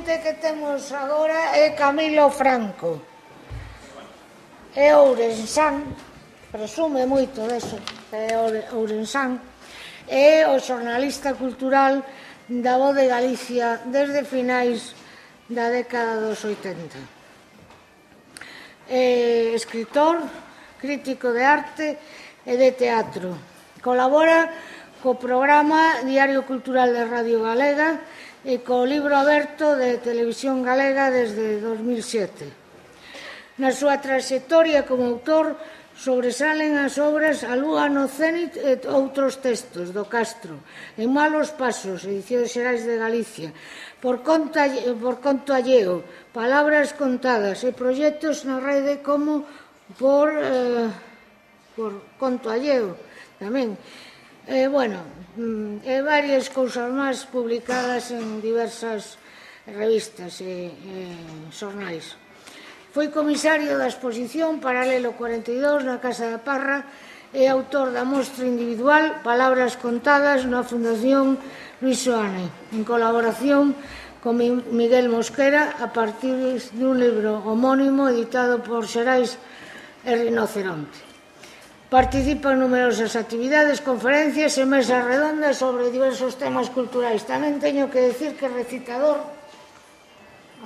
ponente que temos agora é Camilo Franco. É ourensán, presume moito deso, é ourensán. É o xornalista cultural da Voz de Galicia desde finais da década dos 80. É escritor, crítico de arte e de teatro. Colabora co programa Diario Cultural de Radio Galega e co Libro Aberto de Televisión Galega desde 2007. Na súa traxectoria como autor sobresalen as obras A Lúa no Cénit e outros textos do Castro, En malos pasos, Edicións Xerais de Galicia, Por conto alleo, Palabras contadas e proxectos na rede como por conto alleo tamén. E varias cousas máis publicadas en diversas revistas e xornais. Foi comisario da exposición Paralelo 42 na Casa da Parra e autor da mostra individual Palabras contadas na Fundación Luis Soane, en colaboración con Miguel Mosquera a partir dun libro homónimo editado por Xerais e Rinoceronte. Participa en numerosas actividades, conferencias e mesas redondas sobre diversos temas culturais. Tamén teño que decir que é recitador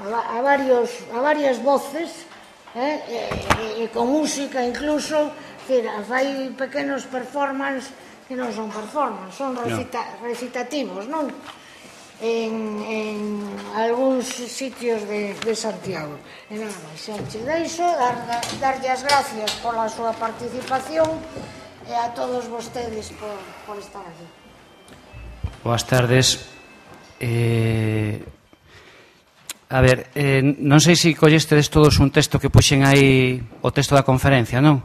a varias voces e con música incluso, fai pequenos performance que non son performance, son recitativos, non? En algúns sitios de Santiago. E nada máis, xa che deixo darlle as gracias pola súa participación e a todos vostedes por estar aquí. Boas tardes. A ver, non sei se collestedes todos un texto que puxen aí, o texto da conferencia, non?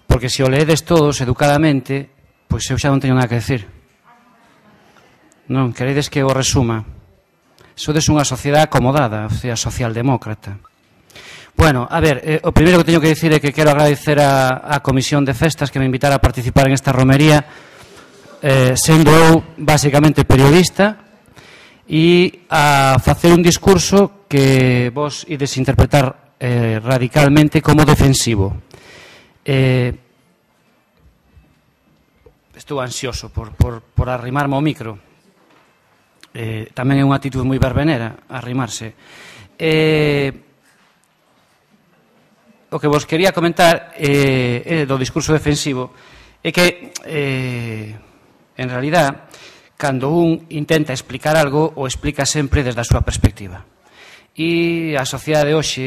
Porque se o leedes todos educadamente, pois eu xa non teño nada que decir. Non, queredes que o resuma. Sodes unha sociedade acomodada, o sea, socialdemócrata. Bueno, a ver, o primeiro que teño que decir é que quero agradecer a Comisión de Festas que me invitara a participar en esta romería, sendo eu basicamente periodista, e a facer un discurso que vos ides interpretar radicalmente como defensivo. Estou ansioso por arrimarme ao micro. Tamén é unha actitud moi verbenera arrimarse. O que vos quería comentar do discurso defensivo é que en realidad cando un intenta explicar algo, o explica sempre desde a súa perspectiva. E a sociedade de hoxe,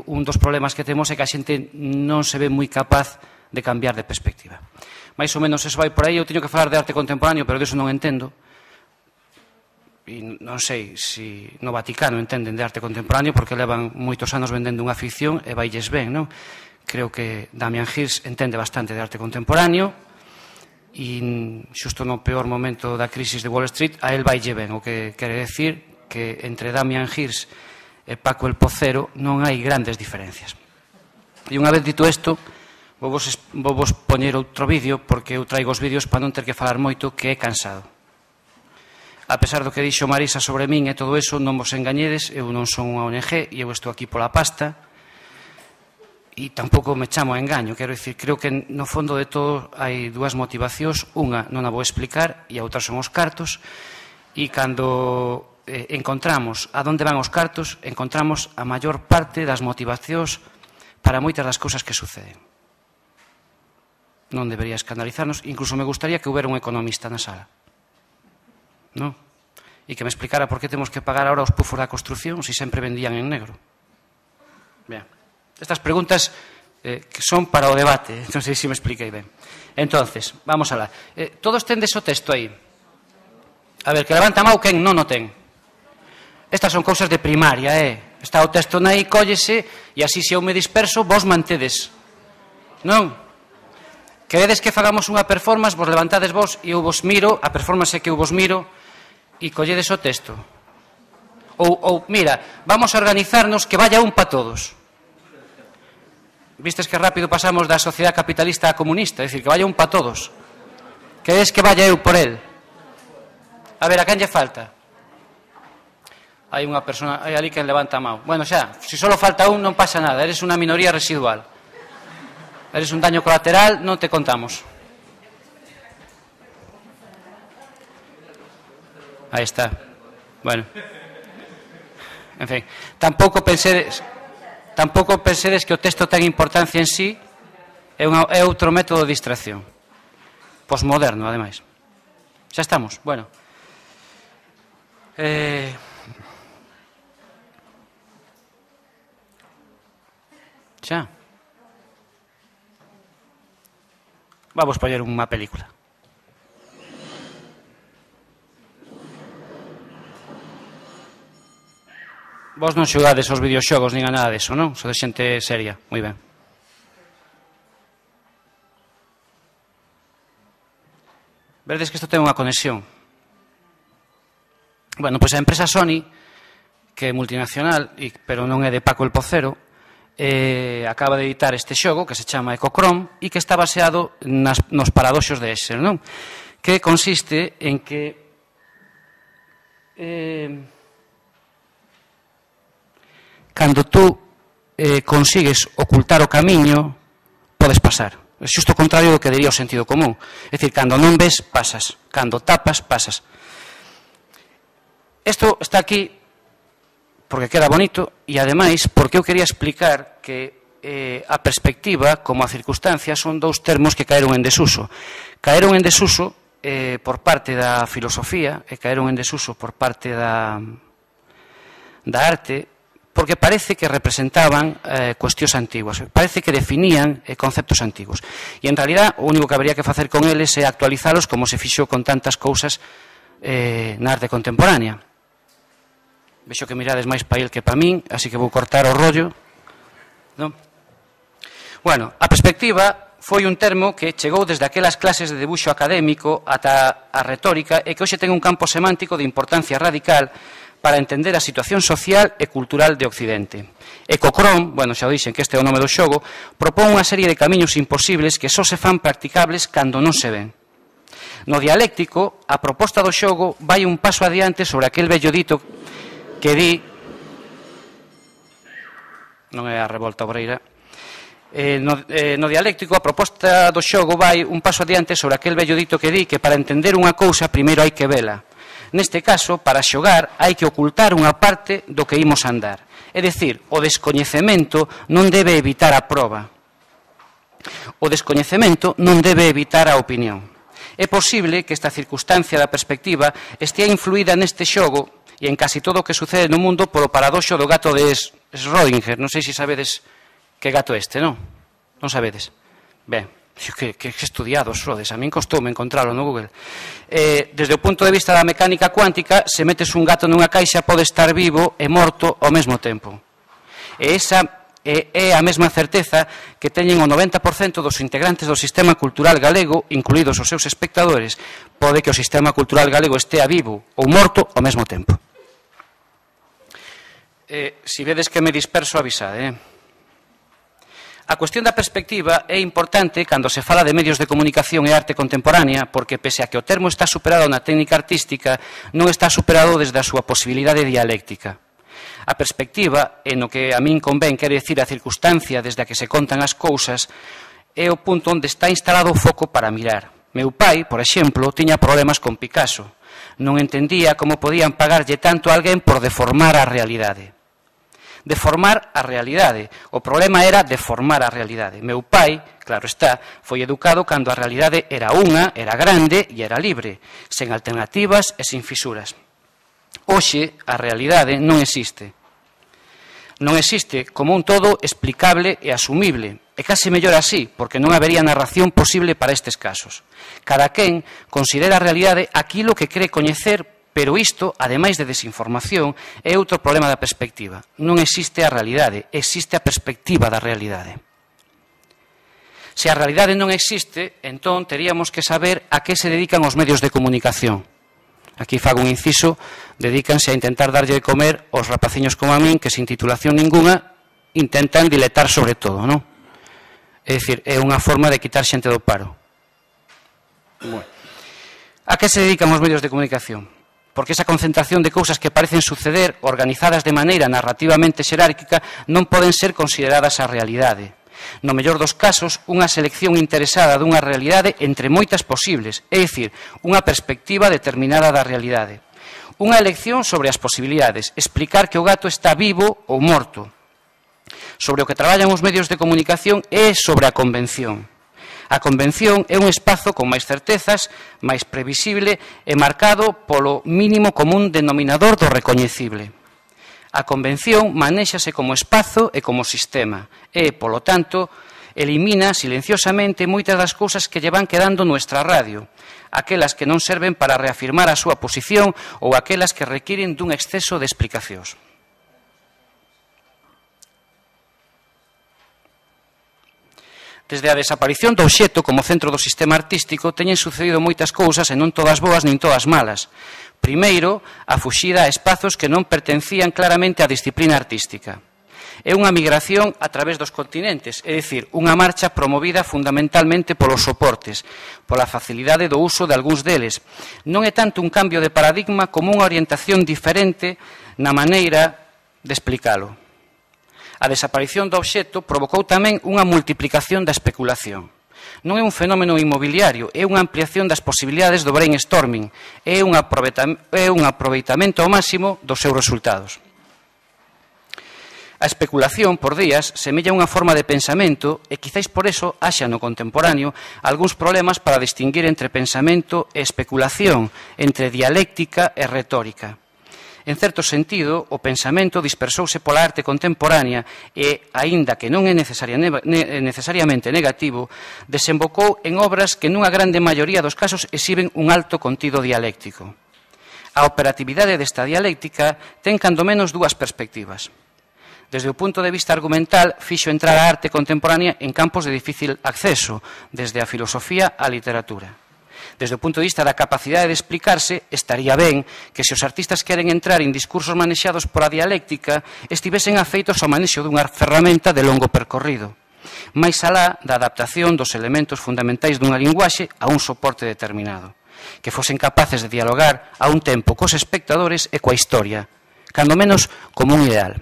un dos problemas que temos é que a xente non se ve moi capaz de cambiar de perspectiva. Mais ou menos eso vai por aí. Eu teño que falar de arte contemporáneo, pero disso non entendo. E non sei se no Vaticano entenden de arte contemporáneo, porque levan moitos anos vendendo unha ficción e vailles ben, non? Creo que Damien Hirst entende bastante de arte contemporáneo, e xusto no peor momento da crisis de Wall Street a él vaille ben, o que quere decir que entre Damien Hirst e Paco el Pocero non hai grandes diferencias. E unha vez dito isto, vou vos poñer outro vídeo, porque eu traigo os vídeos para non ter que falar moito, que é cansado. A pesar do que dixo Marisa sobre min e todo eso, non vos engañedes, eu non son unha ONG e eu estou aquí pola pasta. E tampouco me chamo a engaño, quero dicir, creo que no fondo de todo hai dúas motivacións, unha non a vou explicar e a outra son os cartos, e cando encontramos a donde van os cartos, encontramos a maior parte das motivacións para moitas das cousas que suceden. Non debería escandalizarnos, incluso me gustaría que houbera un economista na sala, non? E que me explicara por que temos que pagar ahora os pufos da construción se sempre vendían en negro. Ben. Estas preguntas que son para o debate, non sei se me expliquei ben. Entonces, vamos alá. Todos tendes o texto aí. A ver, que levanta a mão quen non o ten. Estas son cousas de primaria, Está o texto aí, cóllese, e así se eu me disperso, vos mantedes. Non? Queredes que fagamos unha performance, vos levantades vos e eu vos miro, a performance é que eu vos miro e colledes o texto. Ou mira, vamos a organizarnos que vaya un para todos. Vistes que rápido pasamos da sociedade capitalista a comunista, é dicir, que vaya un para todos. Queredes que vaya eu por el? A ver, a quen lle falta? Hai unha persona, hai ali que levanta a mão. Bueno, xa, se só falta un non pasa nada, eres unha minoría residual. Eres un daño colateral, non te contamos. Aí está. Bueno. En fin, tampouco pensedes que o texto ten importancia en sí, é outro método de distracción. Posmoderno, ademais. Xa estamos, bueno. Xa. Vamos poñer unha película. Vos non xogades aos videoxogos nin a nada deso, non? Sodes xente seria. Moi ben. Verdes que isto ten unha conexión. Bueno, pois a empresa Sony, que é multinacional, pero non é de Paco el Pocero, acaba de editar este xogo que se chama Ecochrome e que está baseado nos paradoxos de Escher, non? Que consiste en que cando tú consigues ocultar o camiño, podes pasar. É xusto o contrario do que diría o sentido común. É dicir, cando non ves, pasas. Cando tapas, pasas. Isto está aquí porque queda bonito e, ademais, porque eu quería explicar que a perspectiva como a circunstancia son dous termos que caeron en desuso. Caeron en desuso por parte da filosofía e caeron en desuso por parte da arte, porque parece que representaban cuestións antiguas, parece que definían conceptos antigos. E, en realidad, o único que habría que facer con eles é actualizalos como se fixo con tantas cousas na arte contemporánea. Vexo que mirades máis para el que para min, así que vou cortar o rollo. Non? Bueno, a perspectiva foi un termo que chegou desde aquelas clases de debuxo académico ata a retórica e que hoxe ten un campo semántico de importancia radical para entender a situación social e cultural de Occidente. Ecochrome, bueno, xa o dixen que este é o nome do xogo, propón unha serie de camiños imposibles que só se fan practicables cando non se ven. No dialéctico, a proposta do xogo vai un paso adiante sobre aquel vello dito que di, non é a revolta obreira, no dialéctico a proposta do xogo vai un paso adiante sobre aquel vello dito que di que para entender unha cousa primeiro hai que vela. Neste caso, para xogar hai que ocultar unha parte do que imos andar. É dicir, o descoñecemento non debe evitar a proba. O descoñecemento non debe evitar a opinión. É posible que esta circunstancia da perspectiva estea influída neste xogo e en casi todo o que sucede no mundo polo paradoxo do gato de Schrödinger. Non sei se sabedes que gato este, non? Non sabedes? Ben, que estudiados sodes, a min costoume encontralo no Google. Desde o punto de vista da mecánica cuántica, se metes un gato nunha caixa pode estar vivo e morto ao mesmo tempo. E esa é a mesma certeza que teñen o 90% dos integrantes do sistema cultural galego, incluídos os seus espectadores. Pode que o sistema cultural galego estea vivo ou morto ao mesmo tempo. Si vedes que me disperso, avisade. A cuestión da perspectiva é importante cando se fala de medios de comunicación e arte contemporánea, porque pese a que o termo está superado na técnica artística, non está superado desde a súa posibilidade dialéctica. A perspectiva, en o que a min convén quere dicir a circunstancia desde a que se contan as cousas, é o punto onde está instalado o foco para mirar. Meu pai, por exemplo, tiña problemas con Picasso. Non entendía como podían pagarlle tanto a alguén por deformar a realidade. Deformar a realidade. O problema era deformar a realidade. Meu pai, claro está, foi educado cando a realidade era unha, era grande e era libre, sen alternativas e sin fisuras. Hoxe, a realidade non existe. Non existe como un todo explicable e asumible. E case mellor así, porque non habería narración posible para estes casos. Cada quen considera a realidade aquilo que cree coñecer, pero isto, ademais de desinformación, é outro problema da perspectiva. Non existe a realidade, existe a perspectiva da realidade. Se a realidade non existe, entón teríamos que saber a que se dedican os medios de comunicación. Aquí fago un inciso, dedícanse a intentar darlle de comer aos rapaciños como a min, que sin titulación ninguna intentan diletar sobre todo, non? É dicir, é unha forma de quitar xente do paro. Bueno. A que se dedican os medios de comunicación? porque esa concentración de cousas que parecen suceder organizadas de maneira narrativamente xerárquica non poden ser consideradas a realidade. No mellor dos casos, unha selección interesada dunha realidade entre moitas posibles, é dicir, unha perspectiva determinada da realidade. Unha elección sobre as posibilidades, explicar que o gato está vivo ou morto. Sobre o que traballan os medios de comunicación é sobre a convención. A convención é un espazo con máis certezas, máis previsible e marcado polo mínimo común denominador do recoñecible. A convención manéxase como espazo e como sistema e, polo tanto, elimina silenciosamente moitas das cousas que lle van quedando nuestra radio, aquelas que non serven para reafirmar a súa posición ou aquelas que requiren dun exceso de explicacións. Desde a desaparición do obxecto como centro do sistema artístico teñen sucedido moitas cousas e non todas boas nin todas malas. Primeiro, a fuxida a espazos que non pertencían claramente á disciplina artística. É unha migración a través dos continentes, é dicir, unha marcha promovida fundamentalmente polos soportes, pola facilidade do uso de algúns deles. Non é tanto un cambio de paradigma como unha orientación diferente na maneira de explicalo. A desaparición do obxecto provocou tamén unha multiplicación da especulación. Non é un fenómeno inmobiliario, é unha ampliación das posibilidades do brainstorming, é un aproveitamento ao máximo dos seus resultados. A especulación, por días, semella unha forma de pensamento e quizáis por eso haxa no contemporáneo algúns problemas para distinguir entre pensamento e especulación, entre dialéctica e retórica. En certo sentido, o pensamento dispersouse pola arte contemporánea e, aínda que non é necesariamente negativo, desembocou en obras que nunha grande maioría dos casos exhiben un alto contido dialéctico. A operatividade desta dialéctica ten cando menos dúas perspectivas. Desde o punto de vista argumental, fixo entrar a arte contemporánea en campos de difícil acceso, desde a filosofía á literatura. Desde o punto de vista da capacidade de explicarse, estaría ben que se os artistas queren entrar en discursos manexados por a dialéctica estivesen afeitos ao manexo dunha ferramenta de longo percorrido, máis alá da adaptación dos elementos fundamentais dunha linguaxe a un soporte determinado, que fosen capaces de dialogar a un tempo cos espectadores e coa historia, cando menos como un ideal.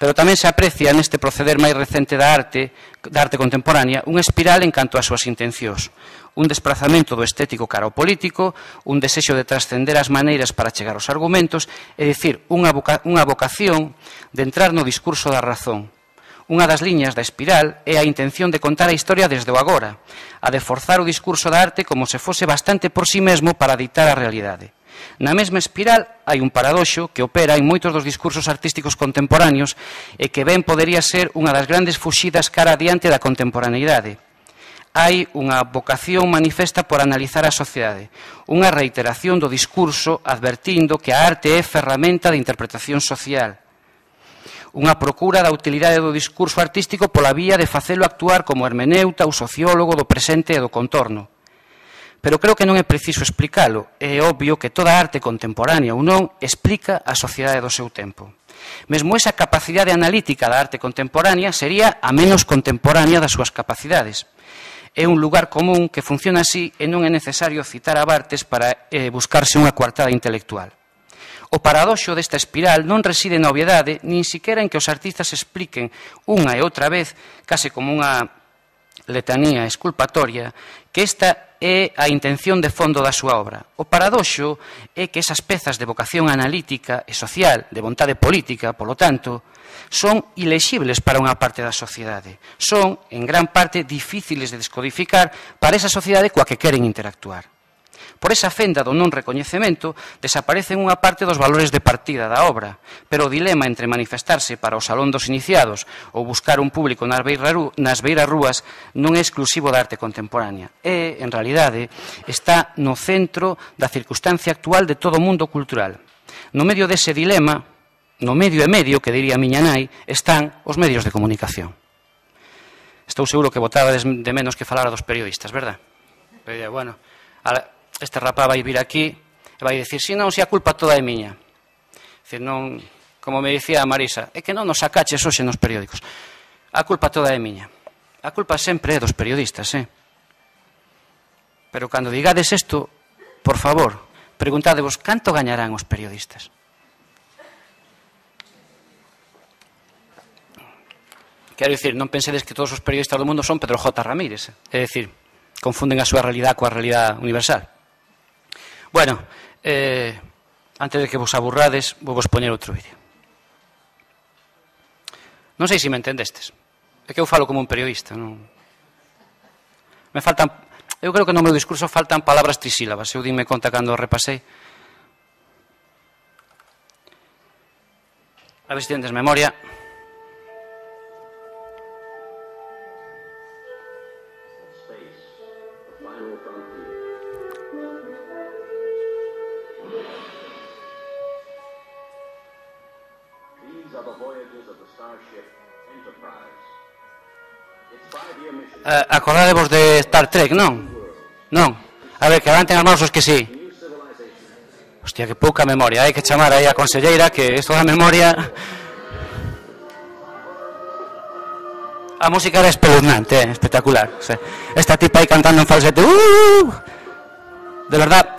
Pero tamén se aprecia neste proceder máis recente da arte contemporánea unha espiral en canto ás súas intencións, un desprazamento do estético cara ao político, un desexo de trascender as maneiras para chegar aos argumentos, é dicir, unha vocación de entrar no discurso da razón. Unha das liñas da espiral é a intención de contar a historia desde o agora, a de forzar o discurso da arte como se fose bastante por si mesmo para dictar a realidade. Na mesma espiral hai un paradoxo que opera en moitos dos discursos artísticos contemporáneos e que ben podería ser unha das grandes fuxidas cara adiante da contemporaneidade. Hai unha vocación manifesta por analizar a sociedade, unha reiteración do discurso advertindo que a arte é ferramenta de interpretación social, unha procura da utilidade do discurso artístico pola vía de facelo actuar como hermeneuta ou sociólogo do presente e do contorno. Pero creo que non é preciso explicalo. É obvio que toda arte contemporánea ou non explica a sociedade do seu tempo. Mesmo esa capacidade analítica da arte contemporánea sería a menos contemporánea das súas capacidades. É un lugar común que funciona así e non é necesario citar a Barthes para buscarse unha coartada intelectual. O paradoxo desta espiral non reside na obviedade, nin siquiera en que os artistas expliquen unha e outra vez, case como unha letanía exculpatoria, que esta é a intención de fondo da súa obra. O paradoxo é que esas pezas de vocación analítica e social, de vontade política, polo tanto, son ilexibles para unha parte da sociedade. Son, en gran parte, difíciles de descodificar para esa sociedade coa que queren interactuar. Por esa fenda do non recoñecemento desaparecen unha parte dos valores de partida da obra, pero o dilema entre manifestarse para o salón dos iniciados ou buscar un público nas beiras rúas non é exclusivo da arte contemporánea. É, en realidade, está no centro da circunstancia actual de todo o mundo cultural. No medio dese dilema, no medio e medio, que diría a miña nai, están os medios de comunicación. Estou seguro que botades de menos que falar dos periodistas, verdad? Pero, bueno, este rapaz vai vir aquí e vai dicir, si non, se a culpa toda é miña. Dicir, non, como me dicía a Marisa, é que non nos sacaches hoxe nos periódicos. A culpa toda é miña. A culpa sempre é dos periodistas, Pero cando digades isto, por favor, preguntádevos canto gañarán os periodistas. Quero dicir, non pensedes que todos os periodistas do mundo son Pedro J. Ramírez. É dicir, confunden a súa realidade coa realidade universal. Bueno, antes de que vos aburrades, vou vos poñer outro vídeo. Non sei se me entendestes. É que eu falo como un periodista. Non? Me faltan... Eu creo que no meu discurso faltan palabras trisílabas. Eu dime conta cando repasei. A ver se tendes memoria. Acordadevos de Star Trek, non? Non. A ver, que levanten as mãos os que sí. Hostia, que pouca memoria. Hai que chamar aí a conselleira, que isto da memoria... A música era espeluznante, espectacular. Esta tipa aí cantando en falsete. De verdad,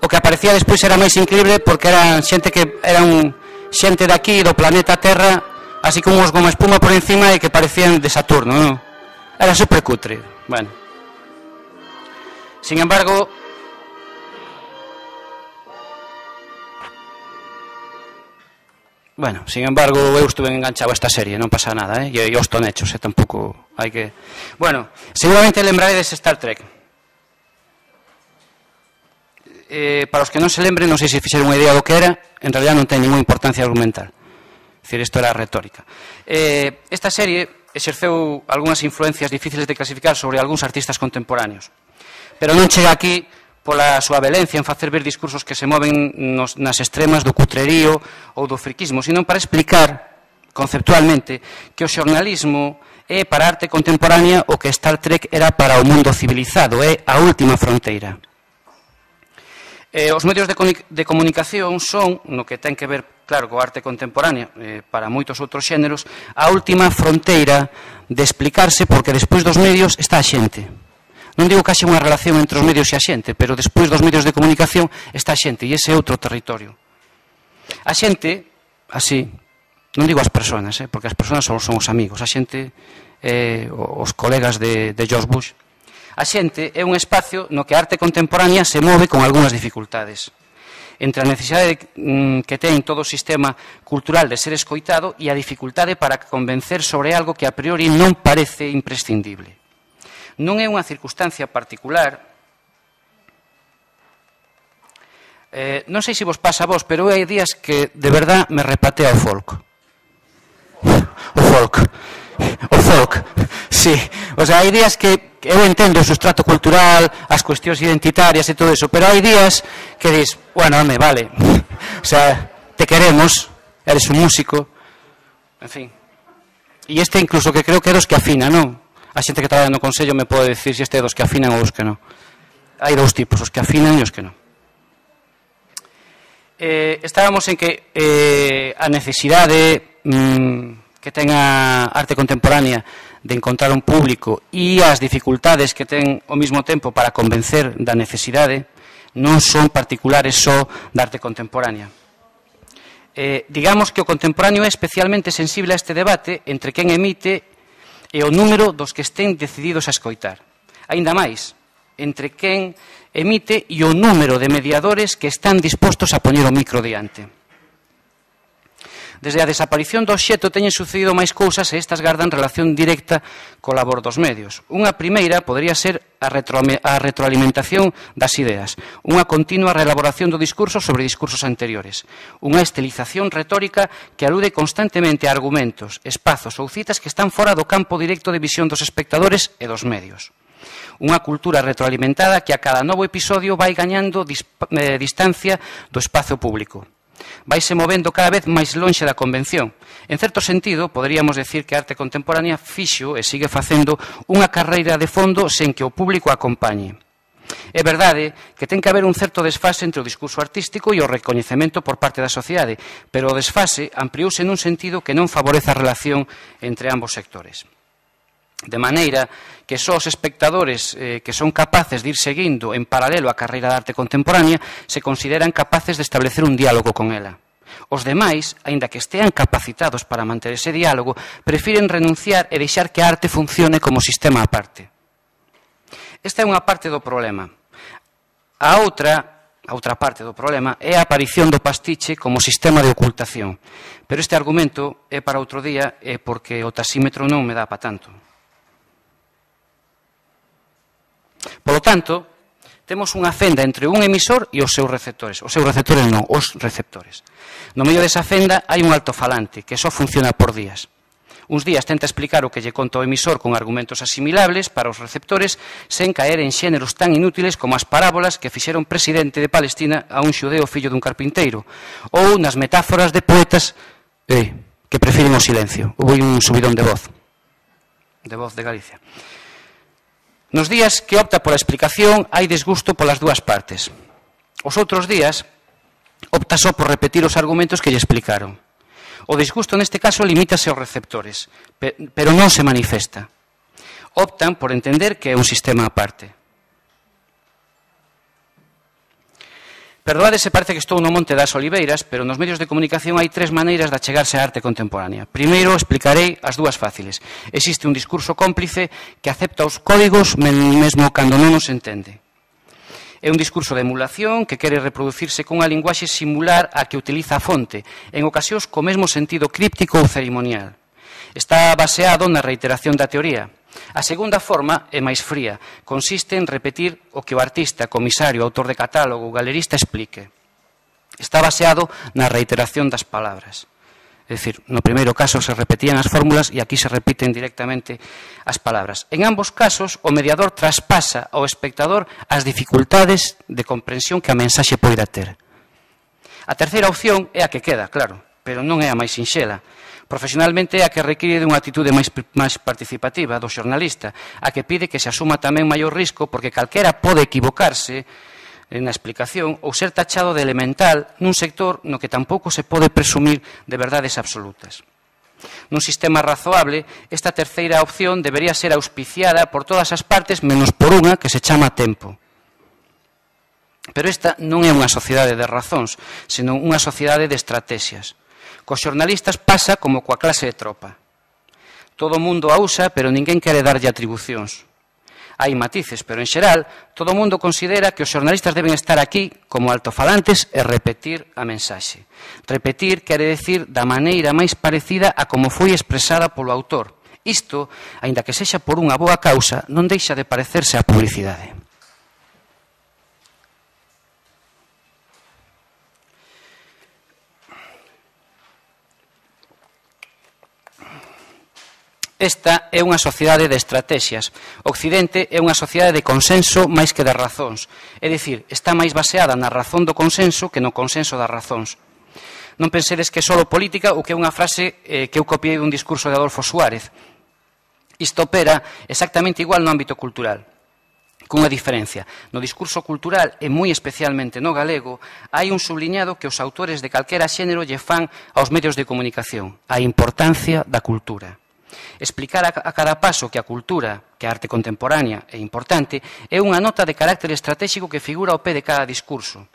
o que aparecía despois era máis increíble porque eran xente que eran xente de aquí, do planeta Terra, así como uns goma espuma por encima e que parecían de Saturno, non? Era super cutre. Bueno. Sin embargo, eu estuve enganchado a esta serie, non pasa nada, e os tonechos, tampouco hai que... Bueno, seguramente lembraredes Star Trek. Para os que non se lembren, non sei se fixeron unha idea do que era, en realidad non ten ninguna importancia argumental. É dicir, isto era retórica. Esta serie exerceu algunhas influencias difíciles de clasificar sobre algúns artistas contemporáneos. Pero non chega aquí pola súa velencia en facer ver discursos que se moven nas extremas do cutrerío ou do friquismo, sino para explicar conceptualmente que o xornalismo é para a arte contemporánea o que Star Trek era para o mundo civilizado, é a última fronteira. Os medios de comunicación son, no que ten que ver, claro, coa arte contemporánea, para moitos outros xéneros, a última fronteira de explicarse, porque despois dos medios está a xente. Non digo que haxe unha relación entre os medios e a xente, pero despois dos medios de comunicación está a xente, e ese é outro territorio. A xente, así, non digo as persoas, porque as persoas son os amigos, a xente, os colegas de George Bush. A xente é un espacio no que a arte contemporánea se move con algunhas dificultades. Entre a necesidade que ten todo o sistema cultural de ser escoitado e a dificultade para convencer sobre algo que a priori non parece imprescindible. Non é unha circunstancia particular. Non sei se vos pasa a vos, pero hai días que de verdad me repatea o folk. O folk, sí. O sea, hai días que eu entendo o sustrato cultural, as cuestións identitarias e todo eso, pero hai días que dis, bueno, home, vale, o sea, te queremos, eres un músico, en fin. E este incluso que creo que é dos que afina, non? A xente que traballa no Consello me pode decir se este é dos que afinan ou dos que non. Hai dous tipos, os que afinan e os que non. Estábamos en que a necesidade que ten a arte contemporánea de encontrar un público e as dificultades que ten ao mesmo tempo para convencer da necesidade non son particulares só da arte contemporánea. Digamos que o contemporáneo é especialmente sensible a este debate entre quen emite e o número dos que estén decididos a escoitar. Aínda máis, entre quen emite e o número de mediadores que están dispostos a poñer o micro diante. Desde a desaparición do obxecto teñen sucedido máis cousas e estas gardan relación directa co labor dos medios. Unha primeira podería ser a retroalimentación das ideas, unha continua reelaboración do discurso sobre discursos anteriores, unha estilización retórica que alude constantemente a argumentos, espazos ou citas que están fora do campo directo de visión dos espectadores e dos medios. Unha cultura retroalimentada que a cada novo episodio vai gañando distancia do espazo público. Vaise movendo cada vez máis lonxe da convención. En certo sentido, poderíamos decir que a arte contemporánea fixo e sigue facendo unha carreira de fondo sen que o público acompañe. É verdade que ten que haber un certo desfase entre o discurso artístico e o recoñecemento por parte da sociedade, pero o desfase ampliouse nun sentido que non favorece a relación entre ambos sectores. De maneira que só os espectadores que son capaces de ir seguindo en paralelo a carreira de arte contemporánea se consideran capaces de establecer un diálogo con ela. Os demais, aínda que estean capacitados para manter ese diálogo, prefiren renunciar e deixar que a arte funcione como sistema aparte. Esta é unha parte do problema. A outra parte do problema é a aparición do pastiche como sistema de ocultación. Pero este argumento é para outro día e porque o taxímetro non me dá para tanto. Polo tanto, temos unha fenda entre un emisor e os seus receptores. Os seus receptores non, os receptores. No medio desa fenda hai un altofalante que só funciona por días. Uns días tenta explicar o que lle conta o emisor con argumentos asimilables para os receptores sen caer en xéneros tan inútiles como as parábolas que fixeron presidente de Palestina a un xudeo fillo dun carpinteiro ou nas metáforas de poetas que prefiren o silencio. Houve un subidón de voz de Galicia. Nos días que opta pola explicación hai desgusto polas dúas partes. Os outros días opta só por repetir os argumentos que lle explicaron. O desgusto neste caso limítase aos receptores, pero non se manifesta. Optan por entender que é un sistema aparte. Perdoade se parece que estou no Monte das Oliveiras, pero nos medios de comunicación hai tres maneiras de achegarse á arte contemporánea. Primeiro, explicarei as dúas fáciles. Existe un discurso cómplice que acepta os códigos mesmo cando non os entende. É un discurso de emulación que quere reproducirse cunha linguaxe similar a que utiliza a fonte, en ocasións co mesmo sentido críptico ou cerimonial. Está baseado na reiteración da teoría. A segunda forma é máis fría, consiste en repetir o que o artista, comisario, autor de catálogo ou galerista explique. Está baseado na reiteración das palabras. É dicir, no primeiro caso se repetían as fórmulas e aquí se repiten directamente as palabras. En ambos casos, o mediador traspasa ao espectador as dificultades de comprensión que a mensaxe poida ter. A terceira opción é a que queda, claro, pero non é a máis sinxela. Profesionalmente é a que require dunha actitude máis participativa do xornalista, a que pide que se asuma tamén maior risco porque calquera pode equivocarse na explicación ou ser tachado de elemental nun sector no que tampouco se pode presumir de verdades absolutas. Nun sistema razoable, esta terceira opción debería ser auspiciada por todas as partes menos por unha que se chama tempo. Pero esta non é unha sociedade de razóns, senón unha sociedade de estrategias. Cos xornalistas pasa como coa clase de tropa. Todo o mundo a usa, pero ninguén quere darlle atribucións. Hai matices, pero en xeral, todo o mundo considera que os xornalistas deben estar aquí como altofalantes e repetir a mensaxe. Repetir quere decir da maneira máis parecida a como foi expresada polo autor. Isto, aínda que sexa por unha boa causa, non deixa de parecerse á publicidade. Esta é unha sociedade de estrategias. Occidente é unha sociedade de consenso máis que de razóns. É dicir, está máis baseada na razón do consenso que no consenso das razóns. Non pensedes que é só política ou que é unha frase que eu copiei dun discurso de Adolfo Suárez. Isto opera exactamente igual no ámbito cultural. Cunha diferencia. No discurso cultural, e moi especialmente no galego, hai un subliñado que os autores de calquera xénero lle fan aos medios de comunicación. A importancia da cultura. Explicar a cada paso que a cultura, que a arte contemporánea é importante, é unha nota de carácter estratégico que figura ao pé de cada discurso.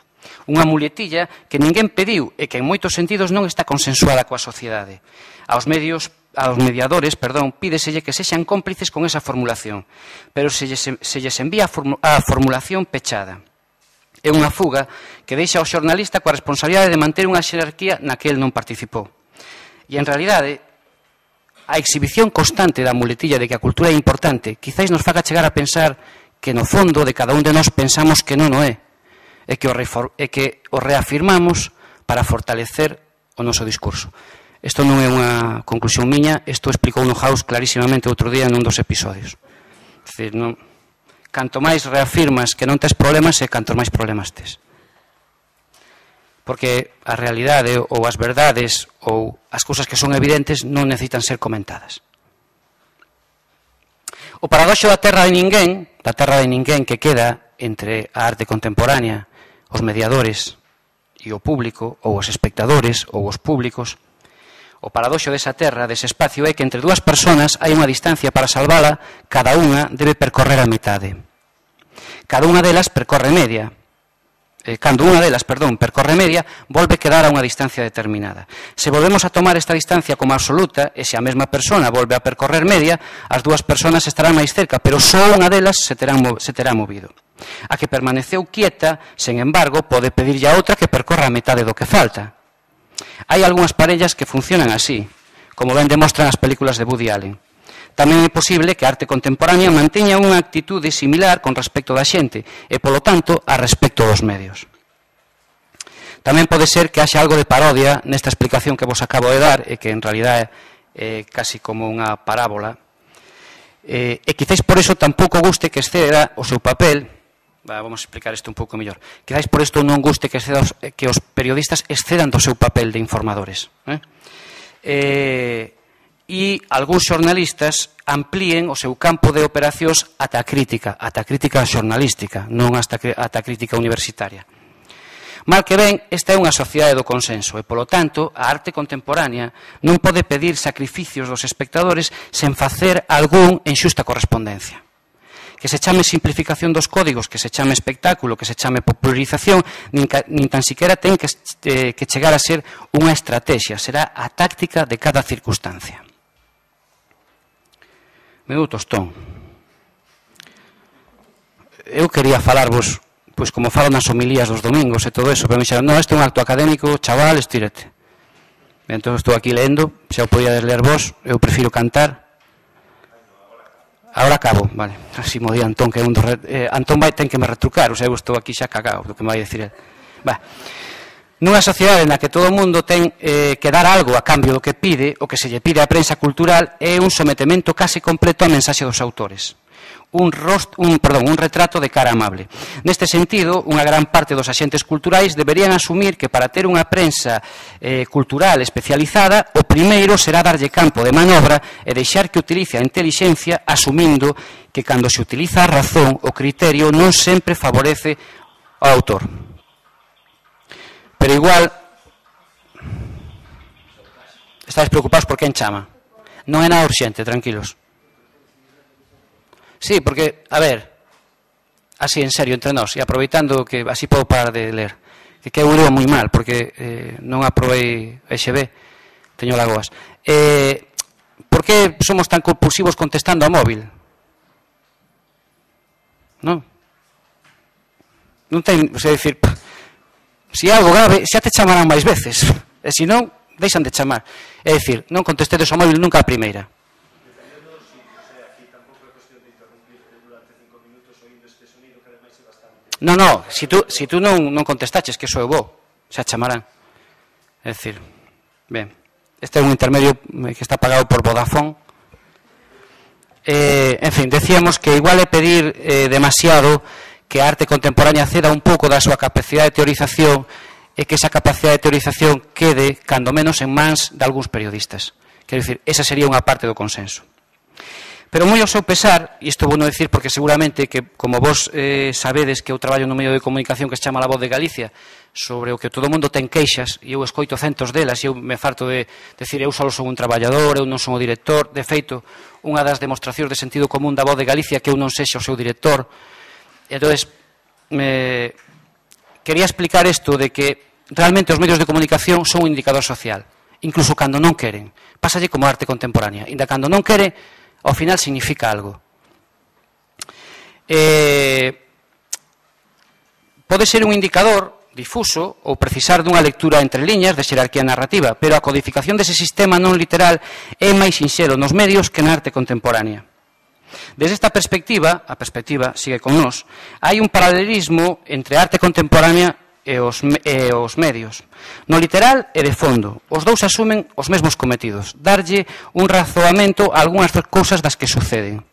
Unha muletilla que ninguén pediu e que en moitos sentidos non está consensuada coa sociedade. Aos mediadores, pídeselle que sexan cómplices con esa formulación, pero se lles envía a formulación pechada. É unha fuga que deixa ao xornalista coa responsabilidade de manter unha xerarquía na que el non participou. E en realidade, a exhibición constante da muletilla de que a cultura é importante quizáis nos faga chegar a pensar que no fondo de cada un de nós pensamos que non o é e que o reafirmamos para fortalecer o noso discurso. Isto non é unha conclusión miña, isto explicou no House clarísimamente outro día nun dos episodios. É dicir, canto máis reafirmas que non tes problemas e canto máis problemas tes. Porque a realidade ou as verdades ou as cousas que son evidentes non necesitan ser comentadas. O paradoxo da terra de ninguén que queda entre a arte contemporánea, os mediadores e o público, ou os espectadores ou os públicos, O paradoxo desa terra, dese espacio, é que entre dúas persoas hai unha distancia para salvala, cada unha debe percorrer a metade. Cada unha delas percorre media. Cando unha delas, percorre media, volve quedar a unha distancia determinada. Se volvemos a tomar esta distancia como absoluta, e se a mesma persona volve a percorrer media, as dúas persoas estarán máis cerca, pero só unha delas se terá movido. A que permaneceu quieta, sen embargo, pode pedirlle a outra que percorra a metade do que falta. Hai algunhas parellas que funcionan así, como ben demostran as películas de Woody Allen. Tamén é posible que a arte contemporánea manteña unha actitude similar con respecto da xente e, polo tanto, a respecto dos medios. Tamén pode ser que haxa algo de parodia nesta explicación que vos acabo de dar e que en realidad é casi como unha parábola. E quizáis por iso tampouco guste que exceda o seu papel. Vamos a explicar isto un pouco mellor. Quizáis por isto non guste que os periodistas excedan do seu papel de informadores. E algúns xornalistas amplíen o seu campo de operacións ata a crítica xornalística, non ata a crítica universitaria. Mal que ben, esta é unha sociedade do consenso e, polo tanto, a arte contemporánea non pode pedir sacrificios dos espectadores sen facer algún en xusta correspondencia. Que se chame simplificación dos códigos, que se chame espectáculo, que se chame popularización, nin tan siquiera ten que chegar a ser unha estrategia, será a táctica de cada circunstancia. Meu tostón. Eu quería falarvos, pois como falo nas homilías dos domingos e todo eso, pero me dixeron, non, este é un acto académico, chaval, estírate. Entón estou aquí leendo, xa o podíades ler vos, eu prefiro cantar. Ahora acabo, vale. Así mo di Antón, que Antón vai ten que me retrucar, o sea, eu estou aquí xa cagado, do que me vai dicir el. Nunha sociedade na que todo o mundo ten que dar algo a cambio do que pide, o que se lle pide á prensa cultural é un sometemento case completo á mensaxe dos autores. Un retrato de cara amable. Neste sentido, unha gran parte dos axentes culturais deberían asumir que para ter unha prensa cultural especializada, o primeiro será darlle campo de manobra e deixar que utilice a intelixencia, asumindo que cando se utiliza a razón, o criterio non sempre favorece ao autor. Pero igual, estáis preocupados por quen chama. Non é nada urxente, tranquilos. Sí, porque, a ver, así en serio, entre nós, e aproveitando que así podo parar de ler, que eu leo moi mal, porque non aprobei EXB, teño lagoas. Por que somos tan compulsivos contestando a móvil? Non? Non ten, é dicir, se é algo grave, xa te chamarán máis veces, e se non, deixan de chamar. É dicir, non contestedes ao móvil nunca a primeira. Non, se tú non contestaches, que sou eu vou, xa chamarán. É dicir, ben, este é un intermedio que está pagado por Vodafone. En fin, decíamos que igual é pedir demasiado que a arte contemporánea ceda un pouco da súa capacidade de teorización e que esa capacidade de teorización quede, cando menos, en mans de algúns periodistas. Quero dicir, esa sería unha parte do consenso. Pero moi ao seu pesar, e isto vou non decir porque seguramente que, como vos sabedes que eu traballo no medio de comunicación que se chama La Voz de Galicia, sobre o que todo o mundo ten queixas, e eu escoito centos delas, e eu me farto de decir, eu só son un traballador, eu non son o director. De feito, unha das demostracións de sentido común da Voz de Galicia que eu non sexa o seu director. Entón, quería explicar isto de que realmente os medios de comunicación son un indicador social, incluso cando non queren. Pásalle como arte contemporánea, ainda cando non quere, ao final significa algo. Pode ser un indicador difuso ou precisar dunha lectura entre liñas de xerarquía narrativa, pero a codificación dese sistema non literal é máis sinxelo nos medios que na arte contemporánea. Desde esta perspectiva, a perspectiva sigue con nós, hai un paralelismo entre a arte contemporánea e os medios. No literal e de fondo, os dous asumen os mesmos cometidos, darlle un razoamento a algunhas cousas das que suceden.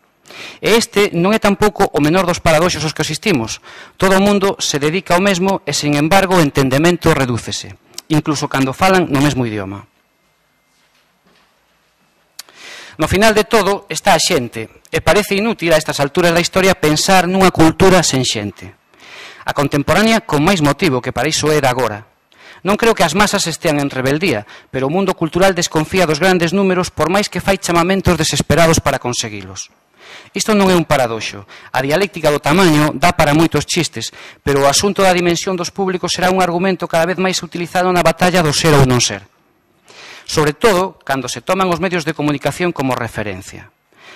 E este non é tampouco o menor dos paradoxos aos que asistimos. Todo o mundo se dedica ao mesmo e, sen embargo, o entendemento redúcese, incluso cando falan no mesmo idioma. No final de todo está a xente, e parece inútil a estas alturas da historia pensar nunha cultura sen xente. A contemporánea con máis motivo, que para iso é de agora. Non creo que as masas estean en rebeldía, pero o mundo cultural desconfía dos grandes números por máis que fai chamamentos desesperados para conseguilos. Isto non é un paradoxo. A dialéctica do tamaño dá para moitos chistes, pero o asunto da dimensión dos públicos será un argumento cada vez máis utilizado na batalla do ser ou non ser. Sobre todo, cando se toman os medios de comunicación como referencia.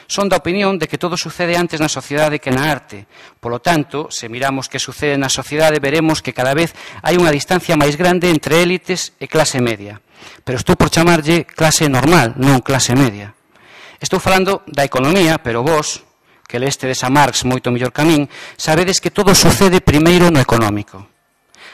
Son da opinión de que todo sucede antes na sociedade que na arte. Polo tanto, se miramos que sucede na sociedade, veremos que cada vez hai unha distancia máis grande entre élites e clase media. Pero estou por chamarlle clase normal, non clase media. Estou falando da economía, pero vos, que lestedes a Marx moito mellor que a min, sabedes que todo sucede primeiro no económico.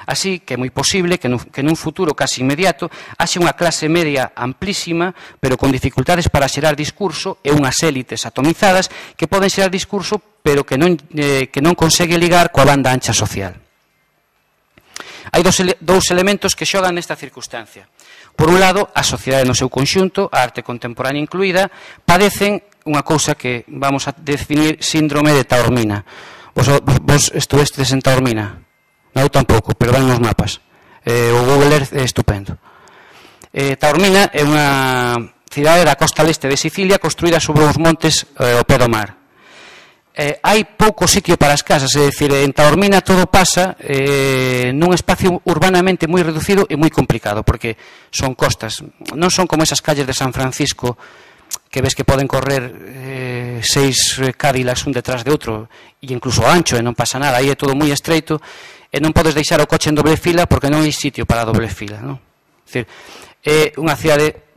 Así que é moi posible que nun futuro casi inmediato haxe unha clase media amplísima, pero con dificultades para xerar discurso e unhas élites atomizadas que poden xerar discurso, pero que non consegue ligar coa banda ancha social. Hai dous elementos que xogan nesta circunstancia. Por un lado, a sociedade no seu conxunto, a arte contemporánea incluída, padecen unha cousa que vamos a definir síndrome de Taormina. Vos estuvestes en Taormina? Non, tampouco, pero van nos mapas. O Google Earth é estupendo. Taormina é unha cidade da costa leste de Sicilia construída sobre uns montes ao pé do mar. Hai pouco sitio para as casas, é dicir, en Taormina todo pasa nun espacio urbanamente moi reducido e moi complicado, porque son costas. Non son como esas calles de San Francisco que ves que poden correr 6 Cadillacs un detrás de outro, e incluso ancho, e non pasa nada, aí é todo moi estreito, e non podes deixar o coche en doble fila porque non hai sitio para a doble fila, non? É dicir, é unha cidade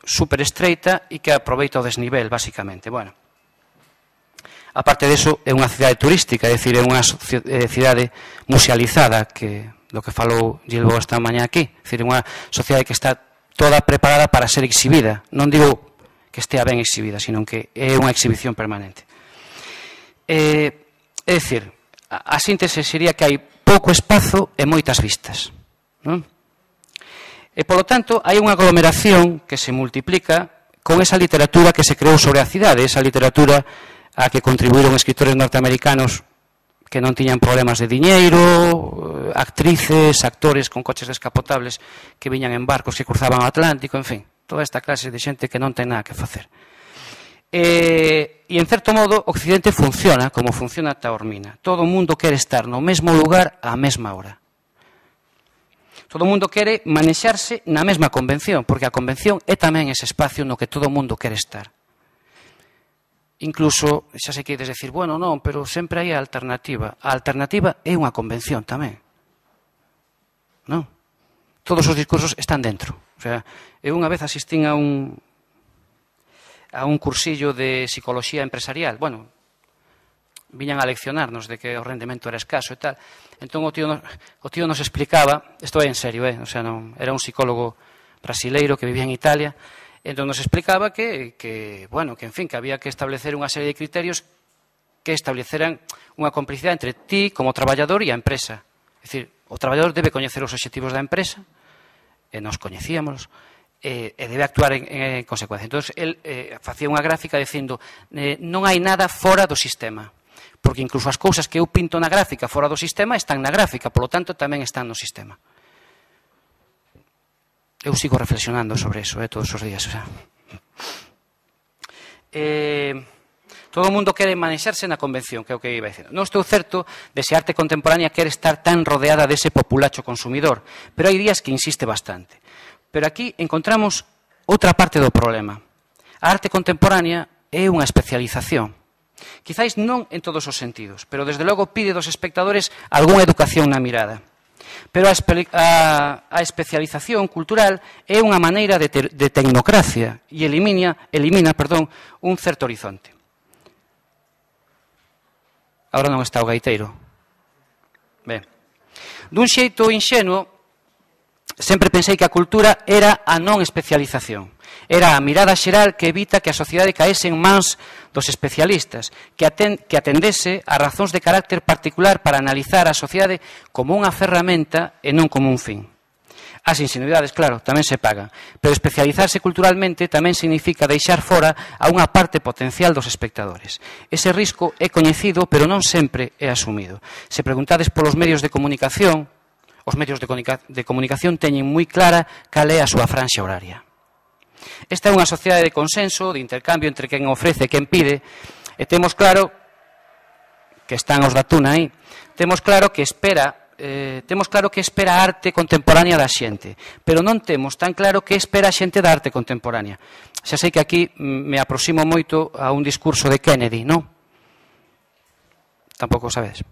super estreita e que aproveita o desnivel, basicamente. Bueno, aparte disso, é unha cidade turística, é dicir, é unha cidade musealizada, que do que falou Gilbo esta mañá aquí, é dicir, é unha sociedade que está toda preparada para ser exhibida. Non digo que estea ben exhibida, sino que é unha exhibición permanente. É dicir, a síntese sería que hai pouco espazo e moitas vistas, non? E, polo tanto, hai unha aglomeración que se multiplica con esa literatura que se creou sobre a cidade, esa literatura a que contribuíron escritores norteamericanos que non tiñan problemas de diñeiro, actrices, actores con coches descapotables que viñan en barcos que cruzaban o Atlántico, en fin, toda esta clase de xente que non ten nada que facer. E, en certo modo, Occidente funciona como funciona Taormina. Todo o mundo quere estar no mesmo lugar á mesma hora. Todo o mundo quere manexarse na mesma convención, porque a convención é tamén ese espacio no que todo o mundo quere estar. Incluso, xa sei que ides decir, bueno, non, pero sempre hai a alternativa. A alternativa é unha convención tamén. Non? Todos os discursos están dentro. O sea, eu unha vez asistín a un cursillo de psicología empresarial. Bueno, viñan a leccionarnos de que o rendemento era escaso e tal. Entón o tío nos explicaba, isto é en serio, o sea, non, era un psicólogo brasileiro que vivía en Italia, entón nos explicaba que en fin, que había que establecer unha serie de criterios que estableceran unha complicidade entre ti como traballador e a empresa. É dicir, o traballador debe coñecer os obxectivos da empresa, e nos coñecíamos, e debe actuar en consecuencia. Entón, el facía unha gráfica dicindo non hai nada fora do sistema, porque incluso as cousas que eu pinto na gráfica fora do sistema están na gráfica, polo tanto tamén están no sistema. Eu sigo reflexionando sobre eso todos os días. O sea. Todo o mundo quere manexarse na convención, que é o que iba dicindo. Non estou certo de se a arte contemporánea quere estar tan rodeada dese populacho consumidor, pero hai días que insiste bastante. Pero aquí encontramos outra parte do problema. A arte contemporánea é unha especialización. Quizáis non en todos os sentidos, pero desde logo pide dos espectadores algunha educación na mirada. Pero a especialización cultural é unha maneira de tecnocracia e elimina un certo horizonte. Agora non está o gaiteiro. Ben. Dun xeito inxenuo, sempre pensei que a cultura era a non especialización. Era a mirada xeral que evita que a sociedade caese en mans dos especialistas, que atendese a razóns de carácter particular para analizar a sociedade como unha ferramenta e non como un fin. As ingenuidades, claro, tamén se pagan, pero especializarse culturalmente tamén significa deixar fora a unha parte potencial dos espectadores. Ese risco é coñecido, pero non sempre é asumido. Se preguntades polos medios de comunicación, os medios de comunicación teñen moi clara cal é a súa franxa horaria. Esta é unha sociedade de consenso, de intercambio entre quen ofrece e quen pide, e temos claro que están os da Tuna aí, temos claro que espera a arte contemporánea da xente, pero non temos tan claro que espera a xente da arte contemporánea. Xa sei que aquí me aproximo moito a un discurso de Kennedy, non? Tampouco sabedes.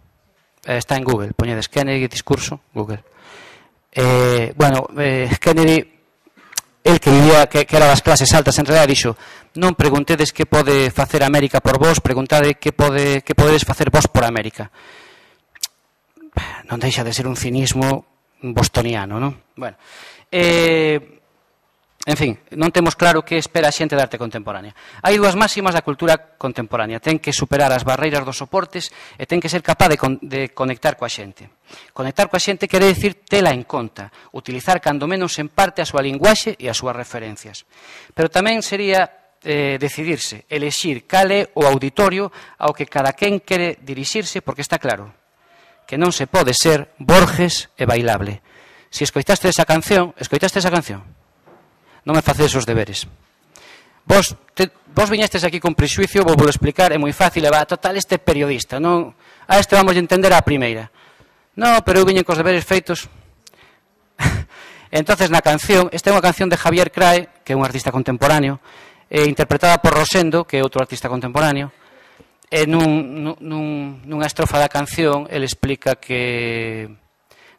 Está en Google, poñedes Kennedy discurso, Google. Kennedy, el que vivía, que era das clases altas, en realidad dixo: non preguntedes que pode facer América por vos, preguntade que podedes facer vos por América. Non deixa de ser un cinismo bostoniano, non? Bueno, en fin, non temos claro que espera a xente da arte contemporánea. Hai dúas máximas da cultura contemporánea: ten que superar as barreiras dos soportes e ten que ser capaz de conectar coa xente. Conectar coa xente quere dicir tela en conta, utilizar cando menos en parte a súa linguaxe e as súas referencias. Pero tamén sería decidirse, elexir cal é o auditorio ao que cada quen quere dirixirse, porque está claro que non se pode ser Borges e bailable. Se escoitaste esa canción, non me facedes os deberes. Vos viñestes aquí con prexuicio, vos vou explicar, é moi fácil, total, este periodista, non? A este vamos a entender a primeira. Non, pero eu viñen cos deberes feitos. Entonces, na canción, esta é unha canción de Javier Crae, que é un artista contemporáneo, interpretada por Rosendo, que é outro artista contemporáneo. E nunha estrofa da canción ele explica que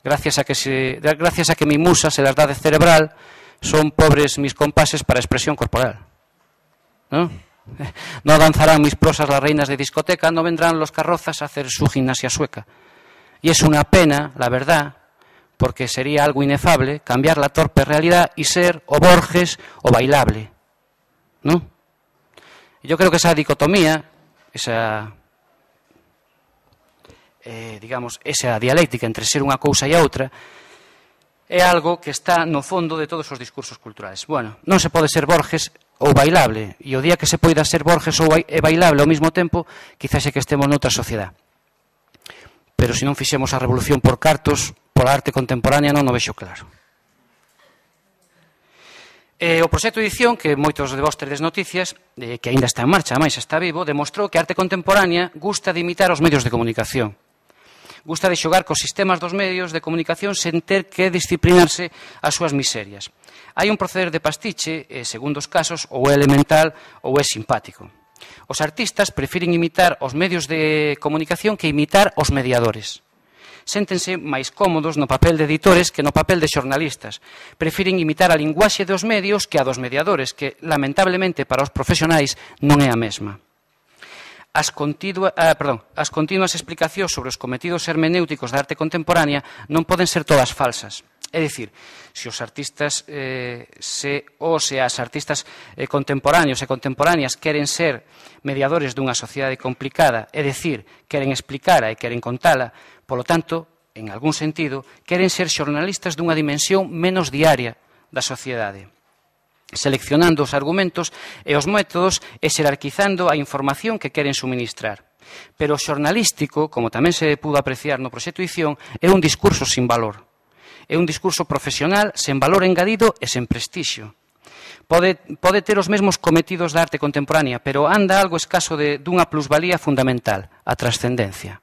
gracias a que mi musa se las da de cerebral, son pobres mis compases para expresión corporal, ¿no? No danzarán mis prosas las reinas de discoteca, no vendrán los carrozas a hacer su gimnasia sueca. Y es una pena, la verdad, porque sería algo inefable cambiar la torpe realidad y ser o Borges o bailable, ¿no? Y yo creo que esa dicotomía, esa dialéctica entre ser unha cousa e a outra, é algo que está no fondo de todos os discursos culturais. Bueno, non se pode ser Borges ou bailable, e o día que se poida ser Borges ou bailable ao mesmo tempo, quizás é que estemos noutra sociedade. Pero se non fixemos a revolución por cartos, pola arte contemporánea non o vexo claro. O proxecto de edición, que moitos de vos teredes noticias, que aínda está en marcha, máis está vivo, demostrou que a arte contemporánea gusta de imitar os medios de comunicación. Gusta de xogar cos sistemas dos medios de comunicación sen ter que disciplinarse as súas miserias. Hai un proceder de pastiche, segundo os casos, ou é elemental ou é simpático. Os artistas prefiren imitar os medios de comunicación que imitar os mediadores. Séntense máis cómodos no papel de editores que no papel de xornalistas. Prefiren imitar a linguaxe dos medios que a dos mediadores, que, lamentablemente, para os profesionais non é a mesma. As continuas explicacións sobre os cometidos hermenéuticos da arte contemporánea non poden ser todas falsas. É dicir, se os artistas as artistas contemporáneos e contemporáneas queren ser mediadores dunha sociedade complicada, é dicir, queren explicala e queren contala, polo tanto, en algún sentido, queren ser xornalistas dunha dimensión menos diaria da sociedade, seleccionando os argumentos e os métodos e xerarquizando a información que queren suministrar. Pero o xornalístico, como tamén se pudo apreciar no proxecto de edición, é un discurso sin valor. É un discurso profesional sen valor engadido e sen prestixio. Pode ter os mesmos cometidos da arte contemporánea, pero anda algo escaso dunha plusvalía fundamental, a trascendencia.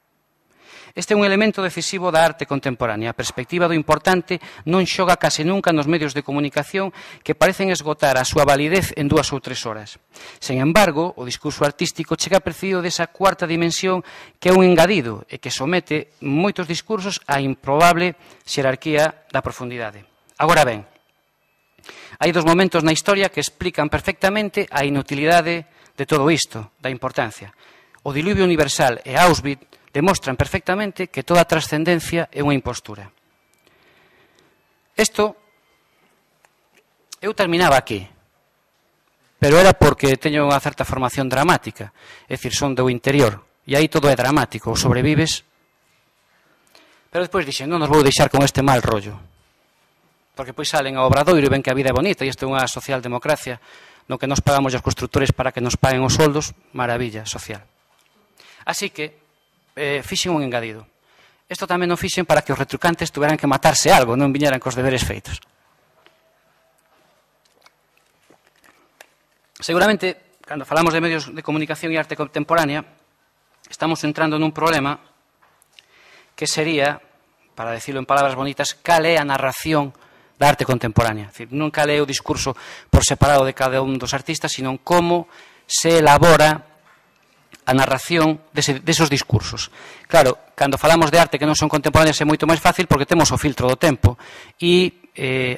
Este é un elemento decisivo da arte contemporánea. A perspectiva do importante non xoga case nunca nos medios de comunicación que parecen esgotar a súa validez en 2 ou 3 horas. Sen embargo, o discurso artístico chega percibido desa cuarta dimensión que é un engadido e que somete moitos discursos á improbable xerarquía da profundidade. Agora ben, hai 2 momentos na historia que explican perfectamente a inutilidade de todo isto, da importancia. O diluvio universal e Auschwitz demostran perfectamente que toda trascendencia é unha impostura. Eu terminaba aquí, pero era porque teño unha certa formación dramática, é dicir, son do interior, e aí todo é dramático, sobrevives. Pero despois dixen, non nos vou deixar con este mal rollo, porque pois salen ao Obradoiro e ven que a vida é bonita, e isto é unha socialdemocracia, no que nos pagamos os constructores para que nos paguen os soldos, maravilla social. Así que fixen un engadido. isto tamén o fixen para que os retrucantes tuveran que matarse algo, non viñeran cos deberes feitos. Seguramente, cando falamos de medios de comunicación e arte contemporánea, estamos entrando nun problema que sería, para decirlo en palabras bonitas, cal é a narración da arte contemporánea. É dicir, non cal é o discurso por separado de cada un dos artistas, sino como se elabora a narración desos discursos. Claro, cando falamos de arte que non son contemporáneas é moito máis fácil porque temos o filtro do tempo e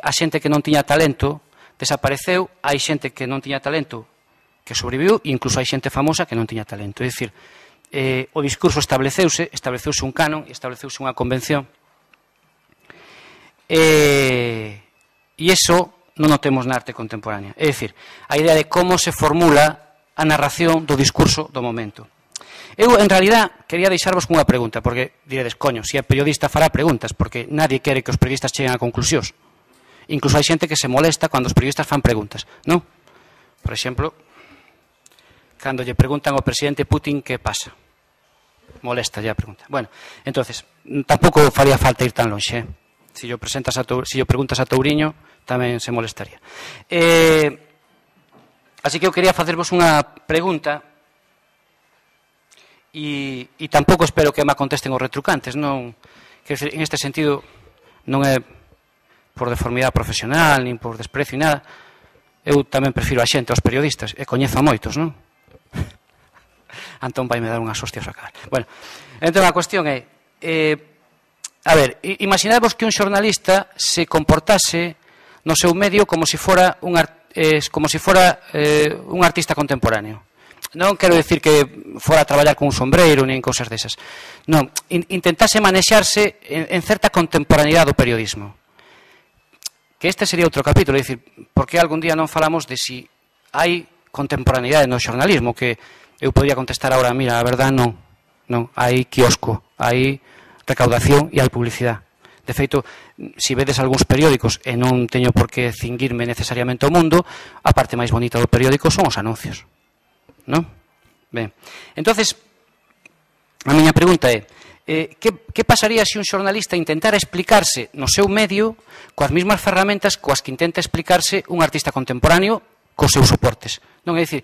a xente que non tiña talento desapareceu, hai xente que non tiña talento que sobreviviu e incluso hai xente famosa que non tiña talento. É dicir, o discurso estableceuse un canon e estableceuse unha convención e iso non o temos na arte contemporánea. É dicir, a idea de como se formula a narración do discurso do momento. Eu, en realidad, quería deixarvos cunha pregunta, porque diredes, coño, se é periodista fará preguntas, porque nadie quere que os periodistas cheguen a conclusións. Incluso hai xente que se molesta cando os periodistas fan preguntas, non? Por exemplo, cando lle preguntan ao presidente Putin que pasa. Molesta ya a pregunta. Bueno, entonces, tampouco faría falta ir tan lonxe, Se yo preguntas a Touriño, tamén se molestaría. Así que eu quería facervos unha pregunta e tampouco espero que me contesten os retrucantes. Non, quero decir, en este sentido non é por deformidade profesional nin por desprecio e nada. Eu tamén prefiro a xente aos periodistas e coñezo a moitos, non? Antón vai me dar unhas hostias a cara. Bueno, entón a cuestión é a ver, imaginadvos que un xornalista se comportase no seu medio como se fora un artista contemporáneo. Non quero decir que fora a traballar con un sombreiro nin cousas desas. Non, intentase manexarse en certa contemporaneidade do periodismo. Que este sería outro capítulo, é dicir, porque algún día non falamos de si hai contemporaneidade no xornalismo, que eu podría contestar agora, mira, a verdade non, hai quiosco, hai recaudación e hai publicidade. De feito, se vedes algúns periódicos, e non teño por que cinguirme necesariamente ao mundo, a parte máis bonita do periódico son os anuncios. Non? Ben, entonces, a miña pregunta é, que pasaría se un xornalista intentara explicarse no seu medio coas mesmas ferramentas coas que intenta explicarse un artista contemporáneo cos seus soportes? Non é dicir,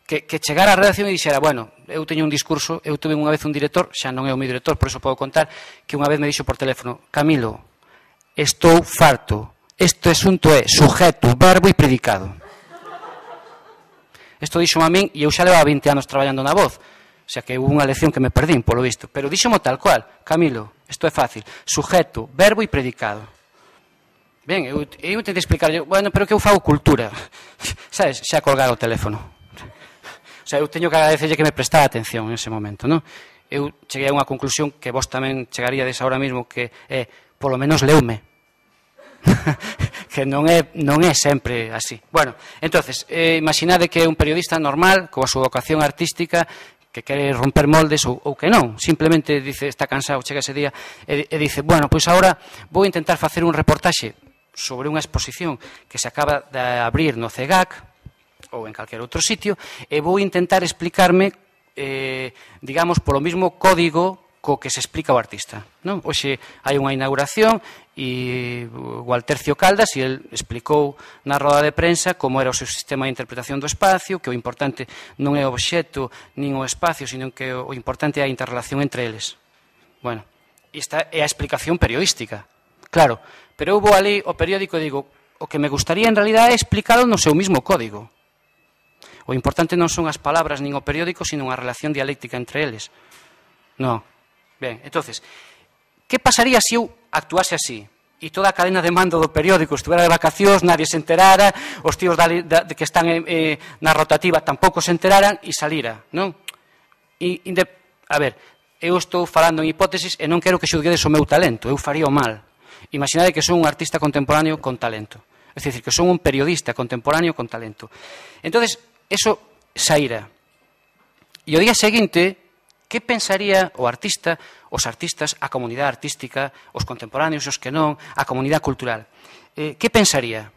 que chegara á redacción e dixera, bueno, eu teño un discurso, eu tuve unha vez un director, xa non é o meu director, por iso podo contar, que unha vez me dixo por teléfono, Camilo, estou farto, este asunto é sujeto, verbo e predicado. Isto dixo a min e eu xa levaba 20 anos traballando na voz, o sea que hubo unha lección que me perdín, polo visto, pero dixomo tal cual, Camilo, isto é fácil, sujeto, verbo e predicado. Ben, eu intentei explicarlle, bueno, pero que eu fago cultura, sabes, xa colgar o teléfono. O sea, eu teño que agradecerlle que me prestara atención en ese momento, non? Eu cheguei a unha conclusión que vos tamén chegaríades ahora mesmo, que é, polo menos leume. Que non é sempre así. Bueno, entonces, imaginade que é un periodista normal, coa súa vocación artística, que quere romper moldes ou que non. Simplemente dice, está cansado, chega ese día e dice, bueno, pois agora vou intentar facer un reportaxe sobre unha exposición que se acaba de abrir no CEGAC, ou en calquer outro sitio, e vou intentar explicarme, digamos, polo mismo código co que se explica o artista. Non? Hoxe hai unha inauguración e o Altercio Caldas e el explicou na roda de prensa como era o seu sistema de interpretación do espacio, que o importante non é o obxecto nin o espacio, sino que o importante é a interrelación entre eles. Bueno, esta é a explicación periodística, claro, pero eu vou ali ao periódico e digo, o que me gustaría en realidad é explicarlo no seu mismo código. O importante non son as palabras nin o periódico, sino a relación dialéctica entre eles. Non. Ben, entonces, que pasaría se eu actuase así? E toda a cadena de mando do periódico estuvera de vacacións, nadie se enterara, os tíos que están na rotativa tampouco se enteraran e salira, non? A ver, eu estou falando en hipótesis e non quero que xulguedes o meu talento, eu faría o mal. Imaginade que son un artista contemporáneo con talento. É dicir, que son un periodista contemporáneo con talento. Entonces, eso saíra. E o día seguinte, que pensaría o artista, os artistas, a comunidade artística, os contemporáneos, os que non, a comunidade cultural? Que pensaría?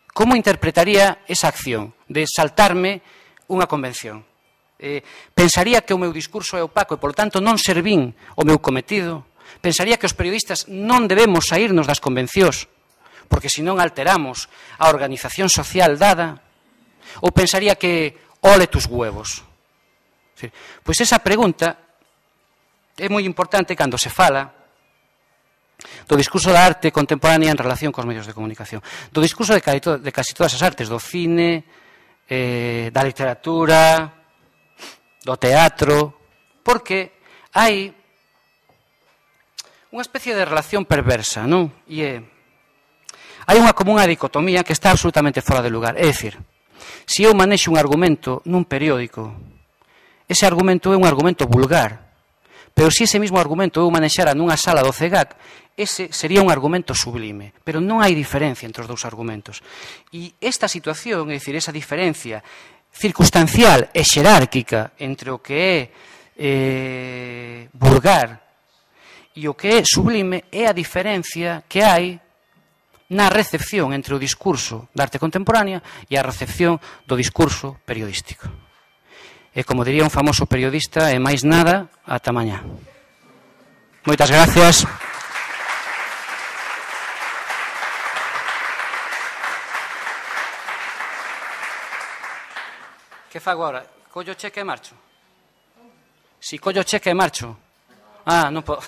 Como interpretaría esa acción de saltarme unha convención? pensaría que o meu discurso é opaco e, polo tanto, non servín o meu cometido. Pensaría que os periodistas non debemos saírnos das convencións, porque senón alteramos a organización social dada. Ou pensaría que ole tus huevos. Pois esa pregunta é moi importante cando se fala do discurso da arte contemporánea en relación cos medios de comunicación. Do discurso de casi todas as artes, do cine, da literatura, do teatro, porque hai unha especie de relación perversa, non? E hai unha común dicotomía que está absolutamente fora de lugar. É dicir, se eu manexo un argumento nun periódico, ese argumento é un argumento vulgar, pero se ese mismo argumento eu manexara nunha sala do CEGAC, ese sería un argumento sublime, pero non hai diferencia entre os dous argumentos. E esta situación, é dicir, esa diferencia circunstancial e xerárquica entre o que é vulgar e o que é sublime é a diferencia que hai na recepción entre o discurso da arte contemporánea e a recepción do discurso periodístico. E como diría un famoso periodista, e máis nada, ata mañá. Moitas gracias. Que fago agora? Collo cheque e marcho? Si collo cheque e marcho? Ah, non podo.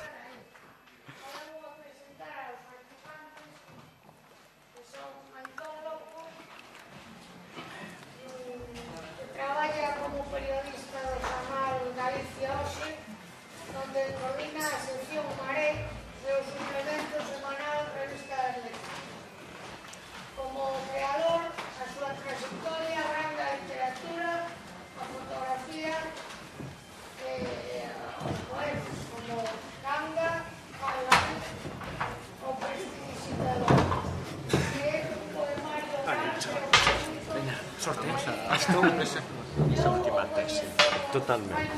Esa última tesi, totalmente.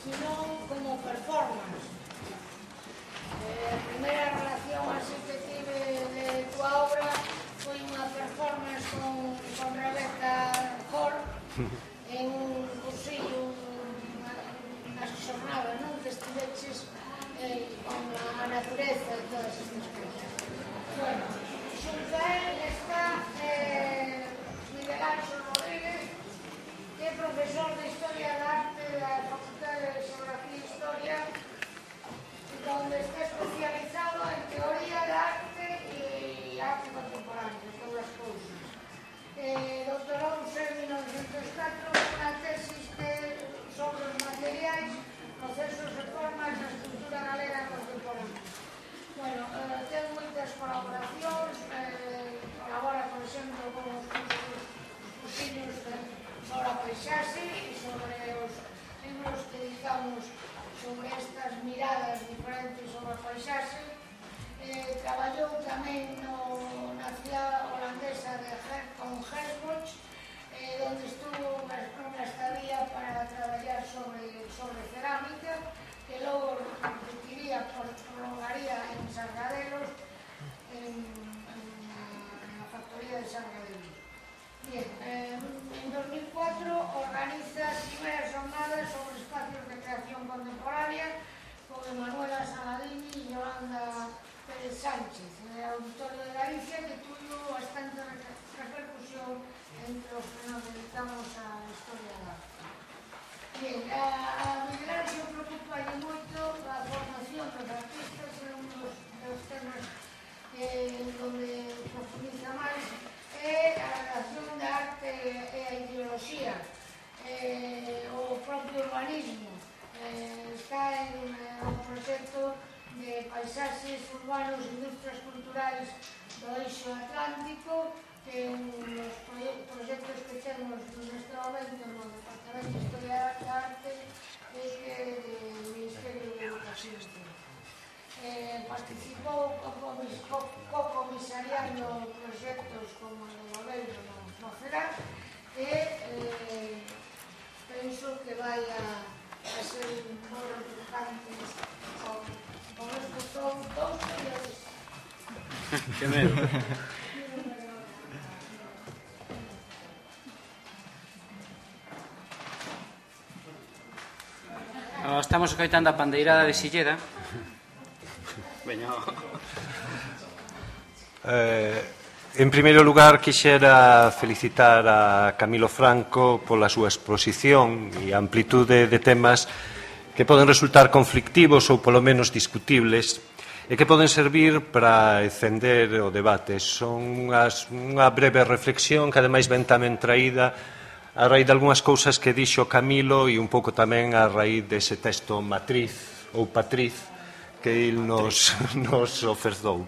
Sino como performance. A primeira relación así que tive de tua obra foi unha performance con Rebeca Hall en un cursillo nas xornadas, non? Que estiveches con a natureza e todas estas cousas. Bueno, xunto a él está Miguel Ángel Rodríguez, que é profesor de Historia da Arte da Facultade de Xeografía e Historia, donde está especializado en teoría da arte e arte contemporánea, todas as cousas. Doutorouse en 1904 unha tesis sobre os materiais, procesos e formas da estrutura galega contemporánea. Bueno, ten moitas colaboracións, colabora, por exemplo, con os cursillos sobre a paisaxe e sobre os libros que editamos sobre estas miradas diferentes sobre a paisaxe. Traballou tamén na cidade holandesa con Herford, onde estuvo unha estadía para traballar sobre cerámica, que logo repetiría, prolongaría en Sargadelos, na factoría de Sargadelos. Bien, en 2004 organiza as primeras jornadas sobre espacios de creación contemporánea con Emanuela Saladini e Yolanda Pérez Sánchez, en el Auditorio de Galicia, que tuvo bastante repercusión entre os que nos dedicamos a historia da arte. Bien, a Miguel Ángel preocupa moito a formación dos artistas, é un dos temas donde profundiza máis, é a relación da arte e a ideoloxía, o propio urbanismo. Está en un proxecto de paisaxes urbanos e industrias culturais do Eixo Atlántico, que é un dos proxectos que temos neste momento no Departamento de Historia da Arte e que é do Ministerio de Educación. Participou co-comisariando proxectos como o de Goleiro no CERAC e penso que vai a ser moi importante con estes dous periodistas. Que medo. Estamos escoitando a pandeirada de Silleda. Veño. En primeiro lugar, quixera felicitar a Camilo Franco pola súa exposición e a amplitude de temas que poden resultar conflictivos ou polo menos discutibles e que poden servir para encender o debate. Son unha breve reflexión que ademais ven tamén traída a raíz de algunhas cousas que dixo Camilo e un pouco tamén a raíz dese texto matriz ou patriz que il nos ofreceu.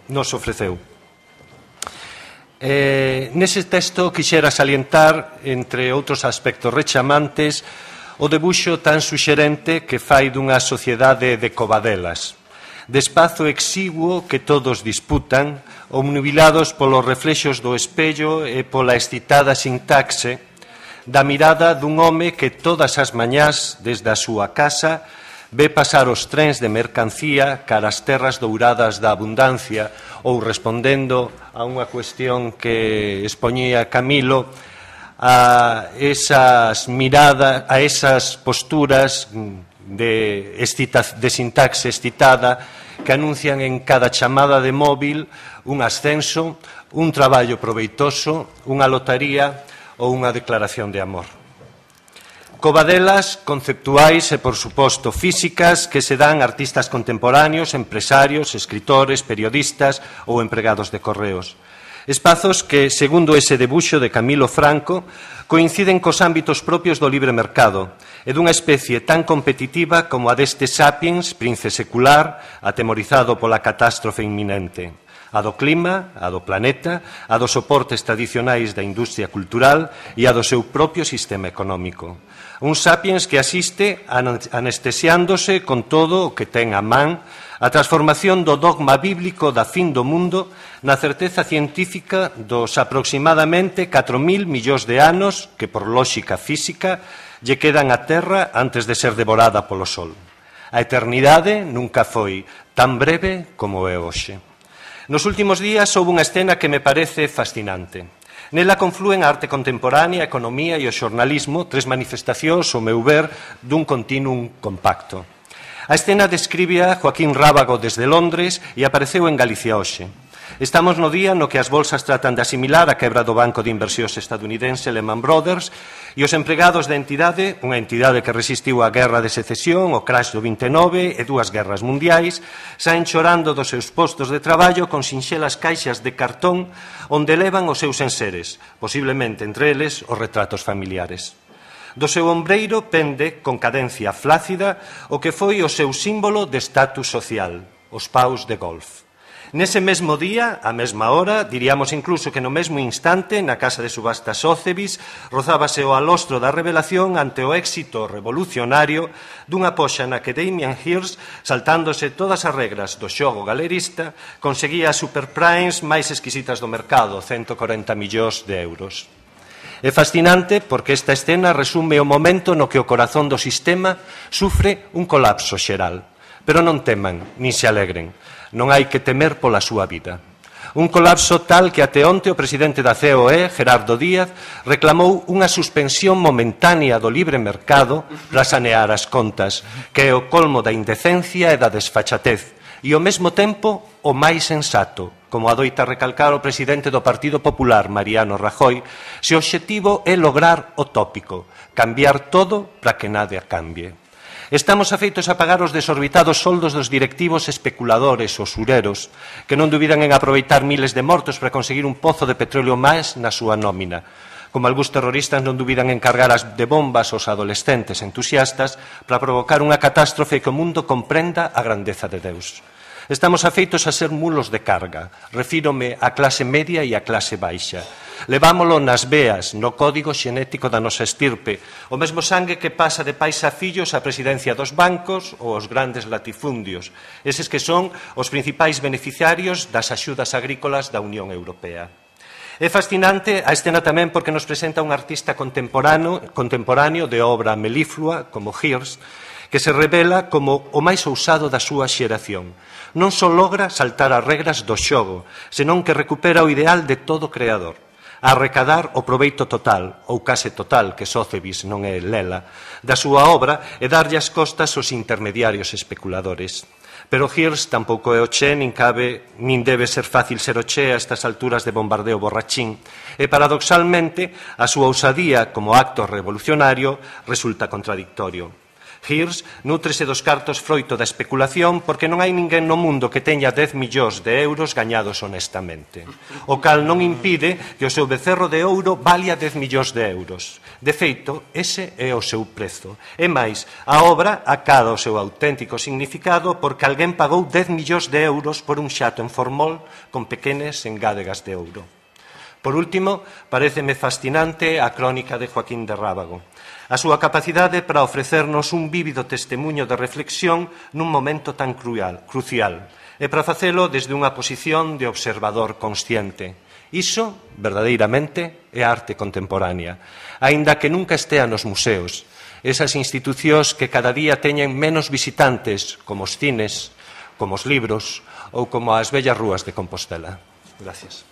Nese texto quixera salientar, entre outros aspectos rechamantes, o debuxo tan suxerente que fai dunha sociedade de covadelas, de espazo exiguo que todos disputan, obnubilados polos reflexos do espello e pola excitada sintaxe da mirada dun home que todas as mañás, desde a súa casa, ve pasar os trens de mercancía cara as terras douradas da abundancia, ou respondendo a unha cuestión que expoñía Camilo, a esas miradas, a esas posturas de sintaxe excitada que anuncian en cada chamada de móvil un ascenso, un traballo proveitoso, unha lotaría ou unha declaración de amor. Covadelas conceptuais e, por suposto, físicas que se dan a artistas contemporáneos, empresarios, escritores, periodistas ou empregados de correos. Espazos que, segundo ese debuxo de Camilo Franco, coinciden cos ámbitos propios do libre mercado e dunha especie tan competitiva como a deste sapiens, prince secular, atemorizado pola catástrofe inminente. A do clima, a do planeta, a dos soportes tradicionais da industria cultural e a do seu propio sistema económico. Un sapiens que asiste anestesiándose con todo o que ten a man a transformación do dogma bíblico da fin do mundo na certeza científica dos aproximadamente 4.000 millóns de anos que, por lóxica física, lle quedan á Terra antes de ser devorada polo Sol. A eternidade nunca foi tan breve como é hoxe. Nos últimos días houve unha escena que me parece fascinante. Nela conflúen a arte contemporánea, a economía e o xornalismo, tres manifestacións, ao meu ver, dun continuum compacto. A escena describía Joaquín Rábago desde Londres e apareceu en Galicia hoxe. Estamos no día no que as bolsas tratan de asimilar a quebra do banco de inversións estadounidense Lehman Brothers e os empregados da entidade, unha entidade que resistiu á guerra de secesión, o crash do 29 e dúas guerras mundiais, saen chorando dos seus postos de traballo con sinxelas caixas de cartón onde levan os seus enseres, posiblemente entre eles os retratos familiares. Do seu ombreiro pende, con cadencia flácida, o que foi o seu símbolo de estatus social, os paus de golf. Nese mesmo día, á mesma hora, diríamos incluso que no mesmo instante, na casa de subastas Sotheby's, rozábase o alostro da revelación ante o éxito revolucionario dunha poxa na que Damien Hirst, saltándose todas as regras do xogo galerista, conseguía as superprimes máis exquisitas do mercado, 140 millóns de euros. É fascinante porque esta escena resume o momento no que o corazón do sistema sufre un colapso xeral. Pero non teman, nin se alegren. Non hai que temer pola súa vida. Un colapso tal que até onte o presidente da COE, Gerardo Díaz, reclamou unha suspensión momentánea do libre mercado para sanear as contas, que é o colmo da indecencia e da desfachatez, e ao mesmo tempo o máis sensato, como adoita recalcar o presidente do Partido Popular, Mariano Rajoy, se o obxectivo é lograr o tópico, cambiar todo para que nada cambie. Estamos afeitos a pagar os desorbitados soldos dos directivos especuladores, usureros, que non dubidan en aproveitar miles de mortos para conseguir un pozo de petróleo máis na súa nómina. Como algúns terroristas non dubidan en cargar as de bombas aos adolescentes entusiastas para provocar unha catástrofe que o mundo comprenda a grandeza de Deus. Estamos afeitos a ser mulos de carga. Refírome á clase media e á clase baixa. Levámolo nas veas, no código xenético da nosa estirpe, o mesmo sangue que pasa de pais a fillos a presidencia dos bancos ou os grandes latifundios, eses que son os principais beneficiarios das axudas agrícolas da Unión Europea. É fascinante a escena tamén porque nos presenta un artista contemporáneo de obra meliflua, como Hirst, que se revela como o máis ousado da súa xeración. Non só logra saltar as regras do xogo, senón que recupera o ideal de todo creador. a arrecadar o proveito total, ou case total, que Sócebis non é lela, da súa obra e darlle as costas aos intermediarios especuladores. Pero Hirsch tampouco é o Che, nin cabe, nin debe ser fácil ser o Che a estas alturas de bombardeo borrachín, e paradoxalmente a súa ousadía como acto revolucionario resulta contradictorio. Hirsch nútrese dos cartos froito da especulación porque non hai ninguén no mundo que teña 10 millóns de euros gañados honestamente, o cal non impide que o seu becerro de ouro valia 10 millóns de euros. De feito, ese é o seu prezo. E máis, a obra acada o seu auténtico significado porque alguén pagou 10 millóns de euros por un xato en formol con pequenas engádegas de ouro. Por último, paréceme fascinante a crónica de Joaquín de Rábago. A súa capacidade para ofrecernos un vívido testemunho de reflexión nun momento tan crucial e para facelo desde unha posición de observador consciente. Iso, verdadeiramente, é arte contemporánea, aínda que nunca estea nos museos, esas institucións que cada día teñen menos visitantes, como os cines, como os libros ou como as bellas rúas de Compostela. Gracias.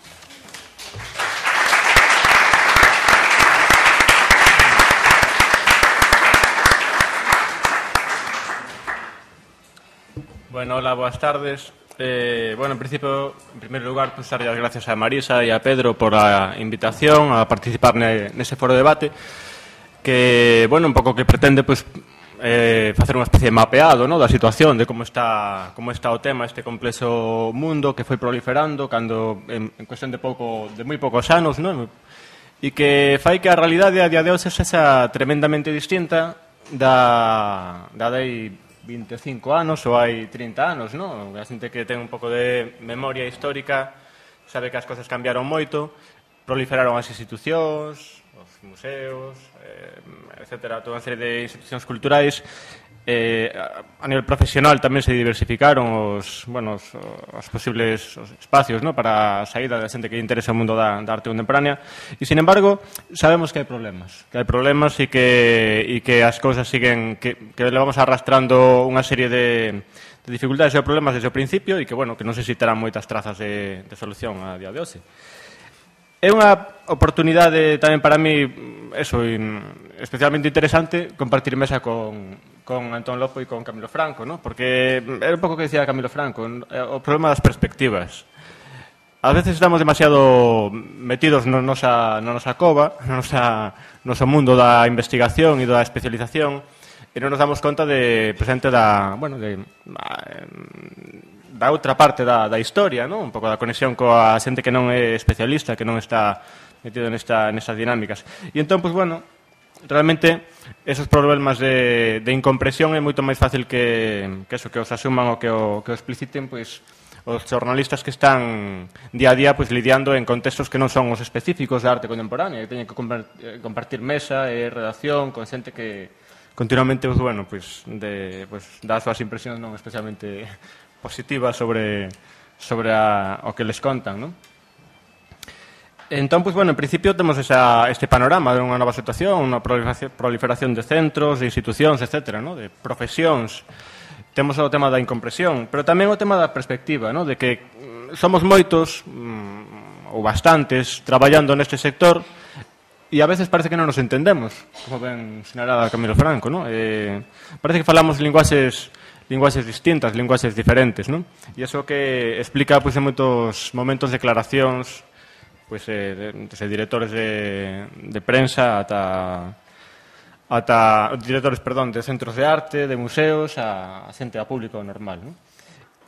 Bueno, hola, boas tardes. En principio, en primeiro lugar, dar as gracias a Marisa e a Pedro por a invitación a participar nese foro de debate que, un pouco que pretende, facer unha especie de mapeado, da situación, de como está o tema, este complexo mundo que foi proliferando cando, en cuestión de moi poucos anos, e que fai que a realidade a día de hoxe sexa tremendamente distinta da dai 25 anos ou hai 30 anos, non? A xente que ten un pouco de memoria histórica sabe que as cousas cambiaron moito, proliferaron as institucións, os museos, etcétera, toda unha serie de institucións culturais. A nivel profesional tamén se diversificaron os posibles espacios para a saída da xente que interesa o mundo da arte contemporánea e, sin embargo, sabemos que hai problemas e que as cousas siguen, que levamos arrastrando unha serie de dificultades e problemas desde o principio e que non sei se terán moitas trazas de solución a día de hoxe. É unha oportunidade tamén para mí, especialmente interesante, compartir mesa con Antón Lopo e con Camilo Franco, porque era un pouco que decía Camilo Franco, o problema das perspectivas. A veces estamos demasiado metidos na nosa cova, no noso mundo da investigación e da especialización, e non nos damos conta de presente da outra parte da historia, un pouco da conexión coa xente que non é especialista, que non está metido nestas dinámicas. E entón, realmente, esos problemas de incompresión é moito máis fácil que os asuman ou que o expliciten, os xornalistas que están día a día lidiando en contextos que non son os específicos da arte contemporánea, que teñen que compartir mesa e redacción con xente que continuamente dá as súas impresións non especialmente positivas sobre o que les contan, non? Entón, en principio temos este panorama de unha nova situación, unha proliferación de centros, de institucións, etc., de profesións. Temos o tema da incompresión, pero tamén o tema da perspectiva, de que somos moitos, ou bastantes, traballando neste sector e a veces parece que non nos entendemos, como ben sinalaba Camilo Franco, parece que falamos linguaxes distintas, linguaxes diferentes, e iso que explica en moitos momentos declaracións desde directores de prensa ata directores, de centros de arte, de museos, a xente a público normal.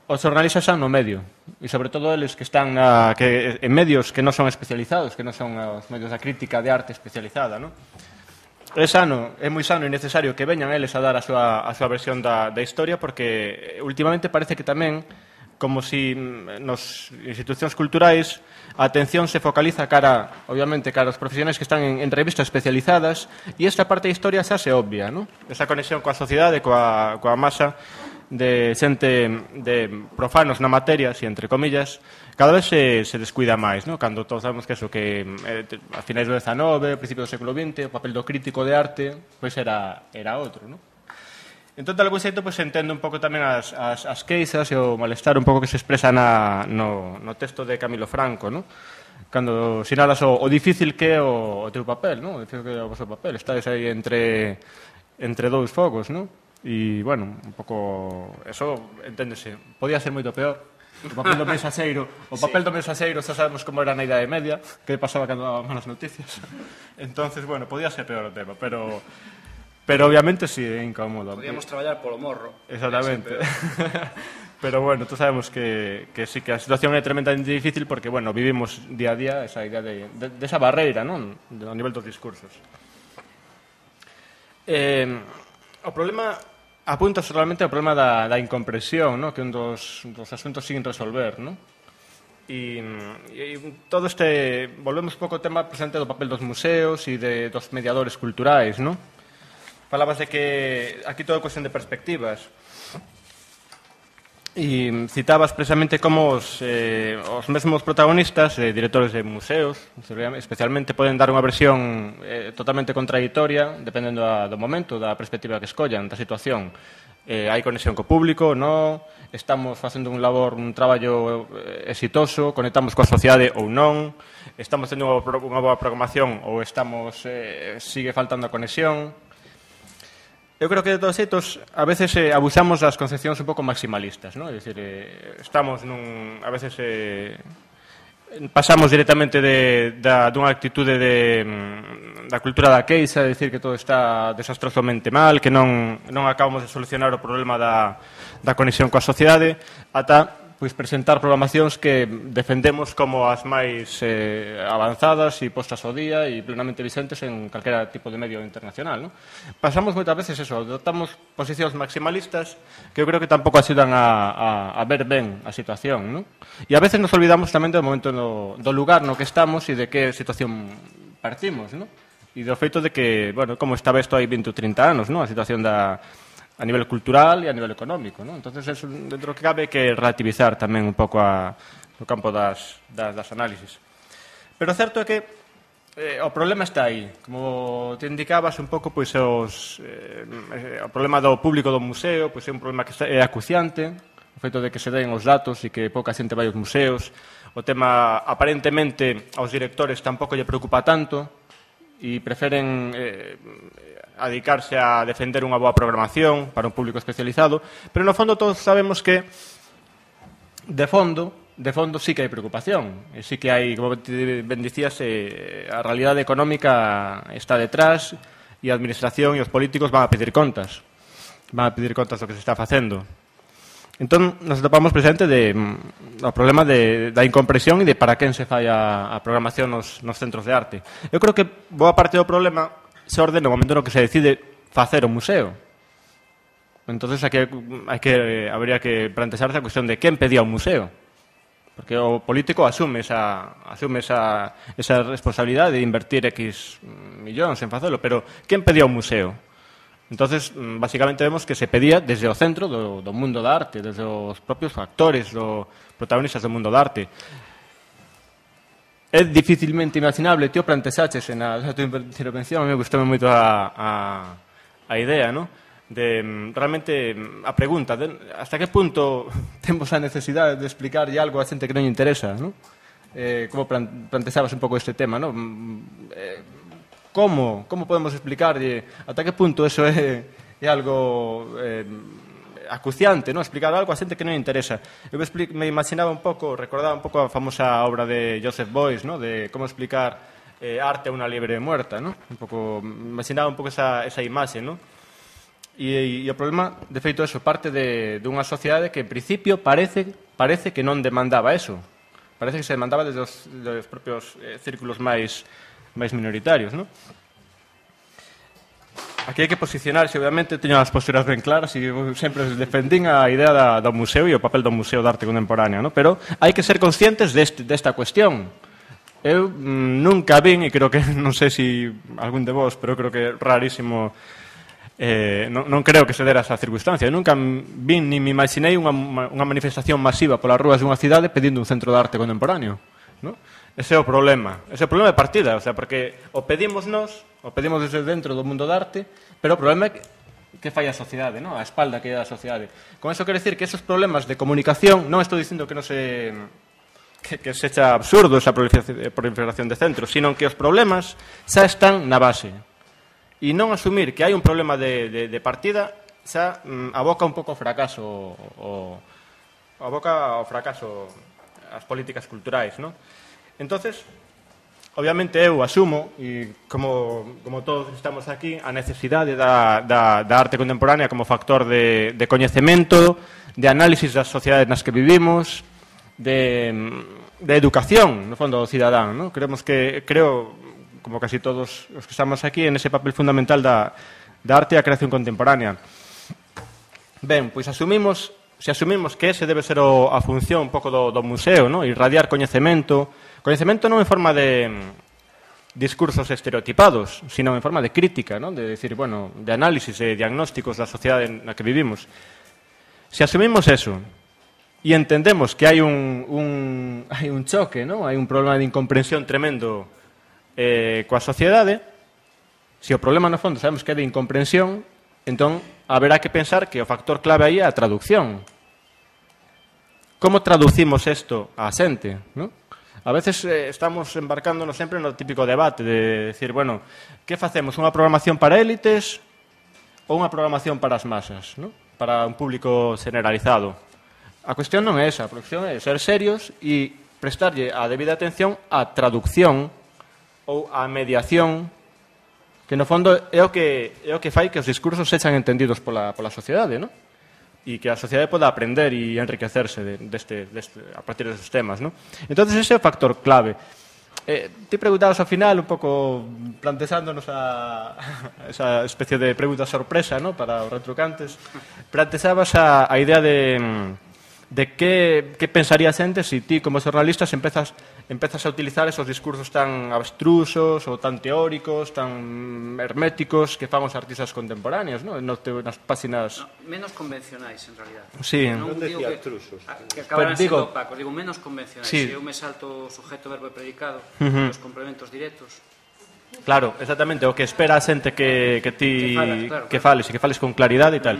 Os xornalistas están no medio e, sobre todo, eles que están en medios que non son especializados, que non son os medios da crítica de arte especializada. É moi sano e necesario que veñan eles a dar a súa versión da historia, porque últimamente parece que tamén, como si nos institucións culturais a atención se focaliza obviamente, cara aos profesionais que están en revistas especializadas, e esta parte da historia xa se obvia, esa conexión coa sociedade, coa masa de xente de profanos na materia, entre comillas, cada vez se descuida máis, cando todos sabemos que a finais do XIX, principio do século XX, o papel do crítico de arte era outro, Entón, de algún xeito, entendo un pouco tamén as queixas e o malestar un pouco que se expresa no texto de Camilo Franco, cando sinalas o difícil que é o teu papel, non? O difícil que é o vosso papel. Estades aí entre dous fogos, non? E, bueno, un pouco... Eso, enténdese, podía ser moito peor. O papel do mensaxeiro, xa sabemos como era na Idade Media, que pasaba cando daban malas noticias. Entonces, bueno, podía ser peor o tema, pero obviamente sí, é incómodo. Podíamos traballar polo morro. Exactamente. Pero bueno, tú sabemos que sí que a situación é tremendamente difícil porque, bueno, vivimos día a día esa idea de esa barreira, non? A nivel dos discursos. O problema apunta solamente ao problema da incomprensión, ¿no? Que é un dos asuntos sin resolver, ¿no? E todo este... Volvemos un pouco ao tema presente do papel dos museos e dos mediadores culturais, ¿no? Falabas de que aquí todo é cuestión de perspectivas. E citabas precisamente como os mesmos protagonistas, directores de museos, especialmente poden dar unha versión totalmente contradictoria, dependendo do momento, da perspectiva que escollan, da situación. Hai conexión co público, non? Estamos facendo un traballo exitoso, conectamos coa sociedade ou non? Estamos tendo unha boa programación ou sigue faltando a conexión? Eu creo que de todos xeitos a veces abusamos das concepcións un pouco maximalistas, ¿no? É dicir, estamos a veces pasamos directamente dunha actitude da cultura da queixa, é dicir que todo está desastrosamente mal, que non acabamos de solucionar o problema da conexión coa sociedade, ata presentar programacións que defendemos como as máis avanzadas e postas ao día e plenamente vicentes en calquera tipo de medio internacional, ¿no? Pasamos moitas veces eso, adoptamos posicións maximalistas que eu creo que tampouco axudan a ver ben a situación, ¿no? E a veces nos olvidamos tamén do momento do lugar no que estamos e de que situación partimos, ¿no? E do feito de que, bueno, como estaba isto hai 20 ou 30 anos, ¿no? A situación a nivel cultural e a nivel económico, ¿no? Entonces, eso, dentro que cabe, que relativizar tamén un pouco no campo das análisis. Pero o certo é que o problema está aí. Como te indicabas un pouco, o problema do público do museo, é un problema que é acuciante, o feito de que se den os datos e que pouca xente vai aos museos. O tema, aparentemente, aos directores tampouco lle preocupa tanto e preferen dedicarse a defender unha boa programación para un público especializado, pero no fondo todos sabemos que de fondo sí que hai preocupación, e sí que hai, como ben dicías, a realidade económica está detrás e a administración e os políticos van a pedir contas do que se está facendo. Entón, nos topamos presente o problema da incomprensión e de para quen se fai a programación nos centros de arte. Eu creo que boa parte do problema se ordena no momento no que se decide facer o museo. Entonces habría que plantearse a cuestión de quen pedía un museo. Porque o político asume esa responsabilidade de invertir X millóns en facelo, pero quen pedía un museo? Entonces, basicamente vemos que se pedía desde o centro do mundo da arte, desde os propios actores, os protagonistas do mundo da arte. É dificilmente imaginable, tío, planteaches na tua intervención, a mí me gustou moito a idea, ¿no? De realmente a pregunta, hasta que punto temos a necesidade de explicarlle algo a xente que non lle interesa, ¿no? Como planteabas un pouco este tema, ¿no? Como podemos explicarlle ata que punto eso é algo acuciante, ¿no? Explicar algo a xente que non interesa. Eu me imaginaba un pouco, recordaba un pouco a famosa obra de Joseph Beuys, ¿no? De como explicar arte a unha liebre muerta, ¿no? Imaginaba un pouco esa imaxe, ¿no? E o problema, de feito, eso, parte dunha sociedade que, en principio, parece que non demandaba eso. Parece que se demandaba desde os propios círculos máis minoritarios, ¿no? Aquí hai que posicionarse, obviamente, teño as posturas ben claras e sempre defendín a idea do museo e o papel do Museo de Arte Contemporánea, ¿no? Pero hai que ser conscientes desta cuestión. Eu nunca vin, e creo que, non sei se algún de vos, pero creo que é rarísimo, non creo que se dera esa circunstancia. Eu nunca vin ni me imaginei unha manifestación masiva polas rúas dunha cidade pedindo un centro de arte contemporáneo, ¿no? Ese é o problema de partida, o sea, porque o pedimos desde dentro do mundo da arte, pero o problema é que fai a sociedade, ¿no? A espalda que é a sociedade. Con eso quero decir que esos problemas de comunicación, non estou dicindo que non se que sexa absurdo esa proliferación de centros, sino que os problemas xa están na base. E non asumir que hai un problema de partida xa aboca un pouco ao fracaso as políticas culturais, non? Entonces, obviamente eu asumo, e como todos estamos aquí, a necesidade da arte contemporánea como factor de coñecemento, de análisis das sociedades nas que vivimos, de educación, no fondo, do cidadán, non? Creo, como casi todos os que estamos aquí, en ese papel fundamental da arte e a creación contemporánea. Ben, pois se asumimos que ese debe ser a función un pouco do museo, non? Irradiar coñecemento non en forma de discursos estereotipados, sino en forma de crítica, non? De decir, bueno, de análisis e diagnósticos da sociedade na que vivimos. Se asumimos eso e entendemos que hai un choque, non? Hai un problema de incomprensión tremendo coa sociedade, se o problema no fondo sabemos que é de incomprensión, entón haberá que pensar que o factor clave aí é a traducción. Como traducimos isto á xente, non? A veces estamos embarcándonos sempre no típico debate de decir, bueno, que facemos? Unha programación para élites ou unha programación para as masas, non? Para un público generalizado. A cuestión non é esa, a cuestión é ser serios e prestarlle a debida atención á traducción ou a mediación, que no fondo é o que fai que os discursos sexan entendidos pola sociedade, non? E que a sociedade poda aprender e enriquecerse a partir destes temas, non? Entón, ese é o factor clave. Ti preguntabas ao final, un pouco plantexándonos esa especie de pregunta sorpresa, non? Para os retrucantes, plantexabas a idea de que pensaría a xente se ti, como xornalistas, empezas a utilizar esos discursos tan abstrusos ou tan teóricos, tan herméticos que fan os artistas contemporáneos, non? Nas páxinas... Menos convencionais, en realidad. Sí. Non decía abstrusos. Que acabarán sendo opacos, digo, menos convencionais. Sí. Se eu me salto o sujeto, verbo e predicado, os complementos directos... Claro, exactamente, o que espera a xente que ti que fales con claridade e tal.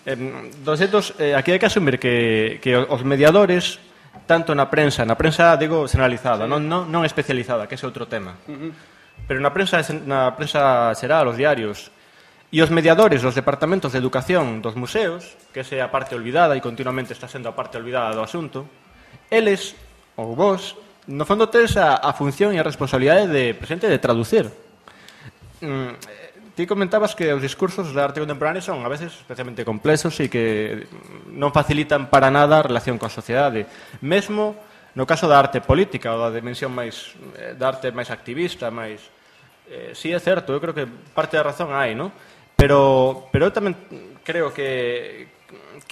Aquí hai que asumir que os mediadores, tanto na prensa digo generalizada, non especializada, que ese é outro tema. Pero na prensa xeral, os diarios, e os mediadores dos departamentos de educación dos museos, que esa é a parte olvidada e continuamente está sendo a parte olvidada do asunto, eles, ou vos, no fondo tedes a función e a responsabilidade de presente de traducir. Ti comentabas que os discursos da arte contemporánea son a veces especialmente complexos e que non facilitan para nada a relación coa sociedade. Mesmo no caso da arte política ou da dimensión máis da arte máis activista, máis si é certo, eu creo que parte da razón hai, non? Pero eu tamén creo que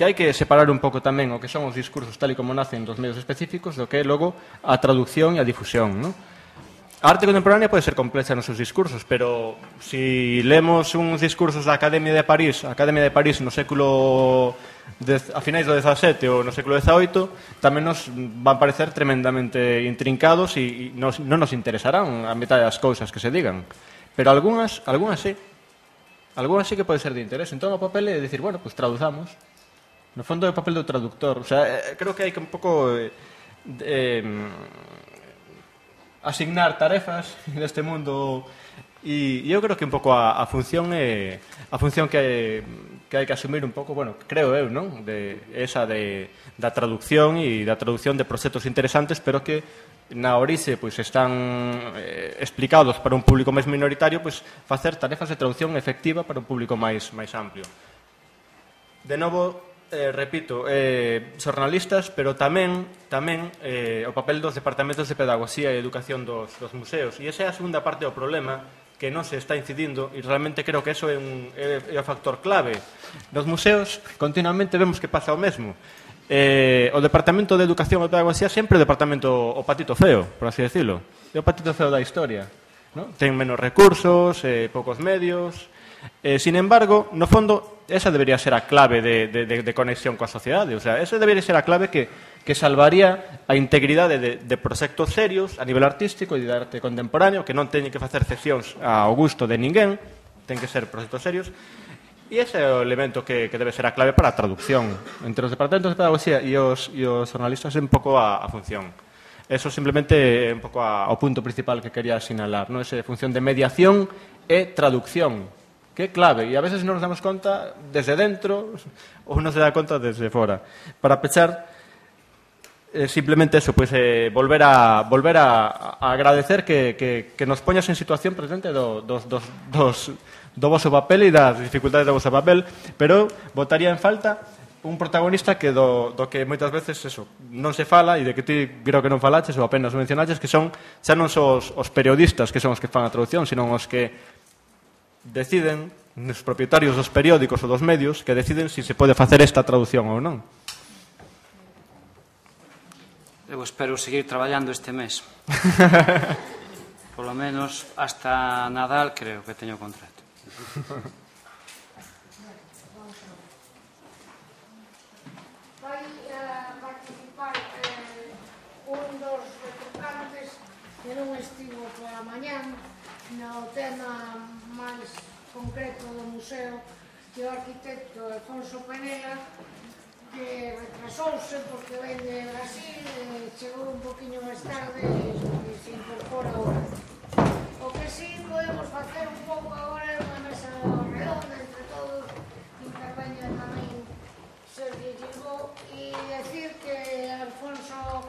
hai que separar un pouco tamén o que son os discursos tal e como nacen dos medios específicos do que é logo a traducción e a difusión, non? A arte contemporánea pode ser complexa nos seus discursos, pero se lemos uns discursos da Academia de París no século a finais do XVII ou no século XVIII, tamén nos van parecer tremendamente intrincados e non nos interesarán a metade das cousas que se digan. Pero algunhas sí. Algunhas sí que pode ser de interés. Entón o papel é dicir, bueno, pues traduzamos. No fondo é o papel do traductor. O sea, creo que hai que un pouco asignar tarefas neste mundo e eu creo que un pouco a función é a función que hai que asumir un pouco, bueno, creo eu, non? Da traducción e da traducción de proxectos interesantes, pero que na orixe pois están explicados para un público máis minoritario, pois facer tarefas de traducción efectiva para un público máis amplio. De novo, repito, xornalistas, pero tamén o papel dos departamentos de pedagogía e educación dos museos. E esa é a segunda parte do problema que non se está incidindo e realmente creo que eso é o factor clave. Nos museos continuamente vemos que pasa o mesmo. O Departamento de Educación e Pedagogía sempre o departamento o patito feo, por así decirlo. É o patito feo da historia, ¿no? Ten menos recursos, poucos medios. Sin embargo, no fondo, esa debería ser a clave de conexión coa sociedade. O sea, esa debería ser a clave que salvaría a integridade de proxectos serios a nivel artístico e de arte contemporáneo, que non teñen que facer cesións ao gusto de ninguén, ten que ser proxectos serios. E ese é o elemento que debe ser a clave para a traducción. Entre os departamentos de pedagogía e os xornalistas é un pouco a función. Eso simplemente é un pouco ao punto principal que quería sinalar, ¿no? Esa función de mediación e traducción, que é clave, e a veces non nos damos conta desde dentro ou non se dá conta desde fora. Para pechar, simplemente eso, pues, volver a agradecer que nos poñas en situación presente do vosso papel e das dificultades do vosso papel, pero botaría en falta un protagonista que do que moitas veces eso non se fala e de que ti creo que non falaches ou apenas mencionaches, que son xa non son os periodistas que son os que fan a traducción, sino os que deciden, os propietarios dos periódicos ou dos medios, que deciden se pode facer esta traducción ou non. Eu espero seguir traballando este mes. Por lo menos hasta Nadal creo que teño contrato. Vai participar un dos retrucantes que non estivo pola mañán no tema máis concreto do museo, que o arquitecto Alfonso Penela, que retrasouse porque ven de Brasil, chegou un poquinho máis tarde e se incorpora agora. O que sí podemos facer un pouco agora é unha mesa redonda entre todos, interveña tamén Sergio Gilbó, e decir que Alfonso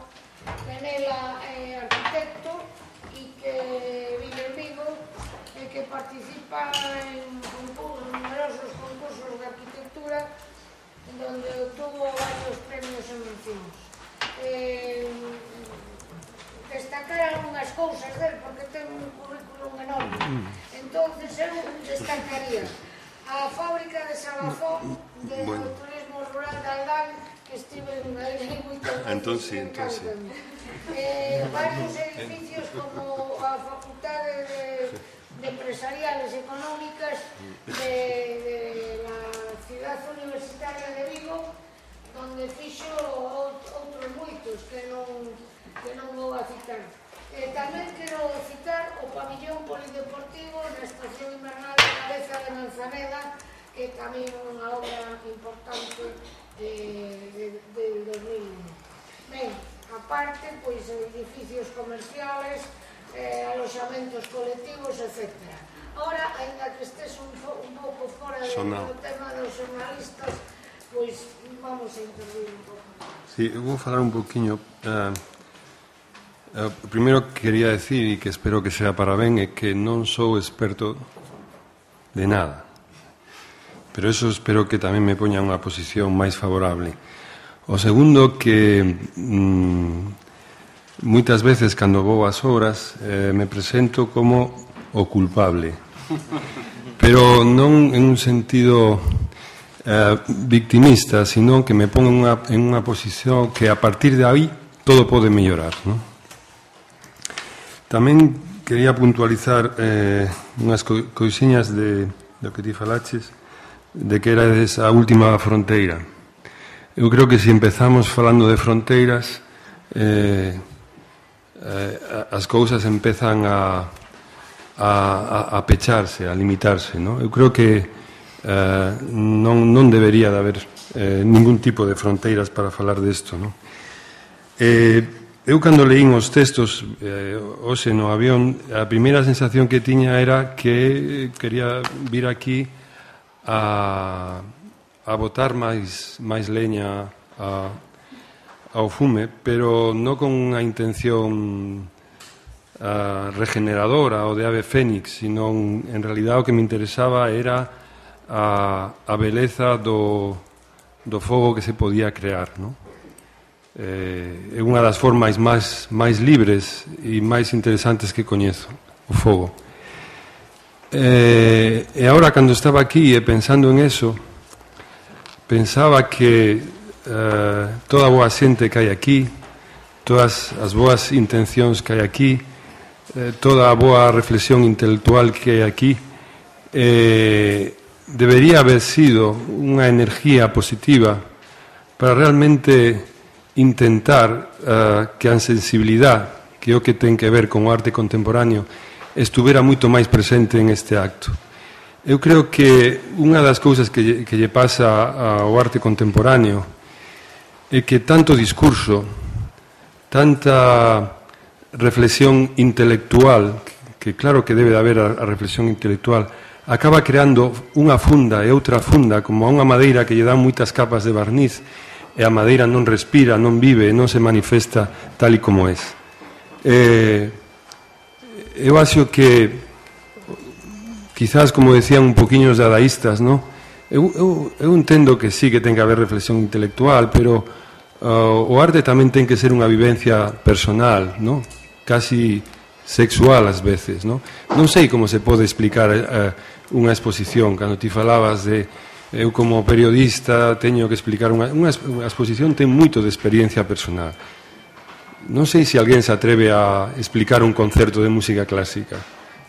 Penela é arquitecto e que vive en Vigo e que participa en numerosos concursos de arquitectura donde obtuvo varios premios e mencións. Destacar algunhas cousas del, porque ten un currículum enorme. Entonces eu destacaría a fábrica de Sabafón do turismo rural de Aldán, que estive aí moitas veces. Varios edificios como a Facultade de Empresariales Económicas de la Ciudad Universitaria de Vigo, donde fixo outros moitos que non vou a citar. Tamén quero citar o pabillón polideportivo na estación invernal de Cabeza de Manzaneda, que tamén é unha obra importante del 2001. Ben, aparte, pois, edificios comerciales, aloxamentos colectivos, etc. Ahora, ainda que estés un pouco fora do tema dos xornalistas, pois vamos a intervir un pouco. Sí, eu vou falar un poquinho. O primeiro que quería decir, e que espero que sea para ben, é que non sou experto de nada, pero eso espero que tamén me poña unha posición máis favorable. O segundo, que moitas veces cando vou ás obras me presento como o culpable, pero non en un sentido victimista, sino que me pongo en unha posición que a partir de aí todo pode mellorar, non? Tamén quería puntualizar unhas coisiñas do que ti falaches, de que era esa última fronteira. Eu creo que se empezamos falando de fronteiras, as cousas empezan a pecharse, a limitarse, non? Eu creo que non debería de haber ningún tipo de fronteiras para falar desto, non? Eu cando leín os textos hoxe no avión, a primeira sensación que tiña era que quería vir aquí a botar máis leña ao fume, pero non con unha intención regeneradora ou de ave fénix, sino en realidad o que me interesaba era a beleza do fogo que se podía crear, non? É unha das formas máis libres e máis interesantes que coñezo, o fogo. E agora, cando estaba aquí e pensando en eso, pensaba que toda a boa xente que hai aquí, todas as boas intencións que hai aquí, toda a boa reflexión intelectual que hai aquí, debería haber sido unha energía positiva para realmente intentar que a sensibilidade, que é o que ten que ver con o arte contemporáneo, estuvera moito máis presente en este acto. Eu creo que unha das cousas que lle pasa ao arte contemporáneo é que tanto discurso, tanta reflexión intelectual, que claro que debe de haber a reflexión intelectual, acaba creando unha funda e outra funda, como a unha madeira que lle dá moitas capas de barniz, e a madeira non respira, non vive, non se manifesta tal e como es. Eu acho que, quizás, como decían un poquinho os dadaístas, ¿no? Eu entendo que sí que ten que haber reflexión intelectual, pero o arte tamén ten que ser unha vivencia personal, ¿no? Casi sexual ás veces, ¿no? Non sei como se pode explicar unha exposición, cando ti falabas de eu como periodista teño que explicar unha exposición ten moito de experiencia personal. Non sei se alguén se atreve a explicar un concerto de música clásica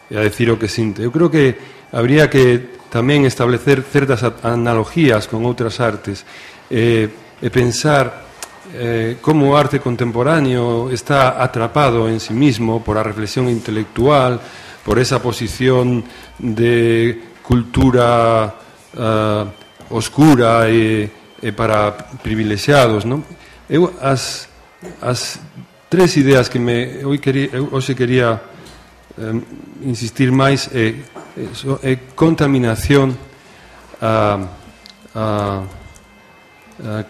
e a decir o que sinte. Eu creo que habría que tamén establecer certas analogías con outras artes e pensar como o arte contemporáneo está atrapado en sí mismo por a reflexión intelectual, por esa posición de cultura oscura e para privilexiados, non? Eu as tres ideas que hoxe quería insistir máis é contaminación,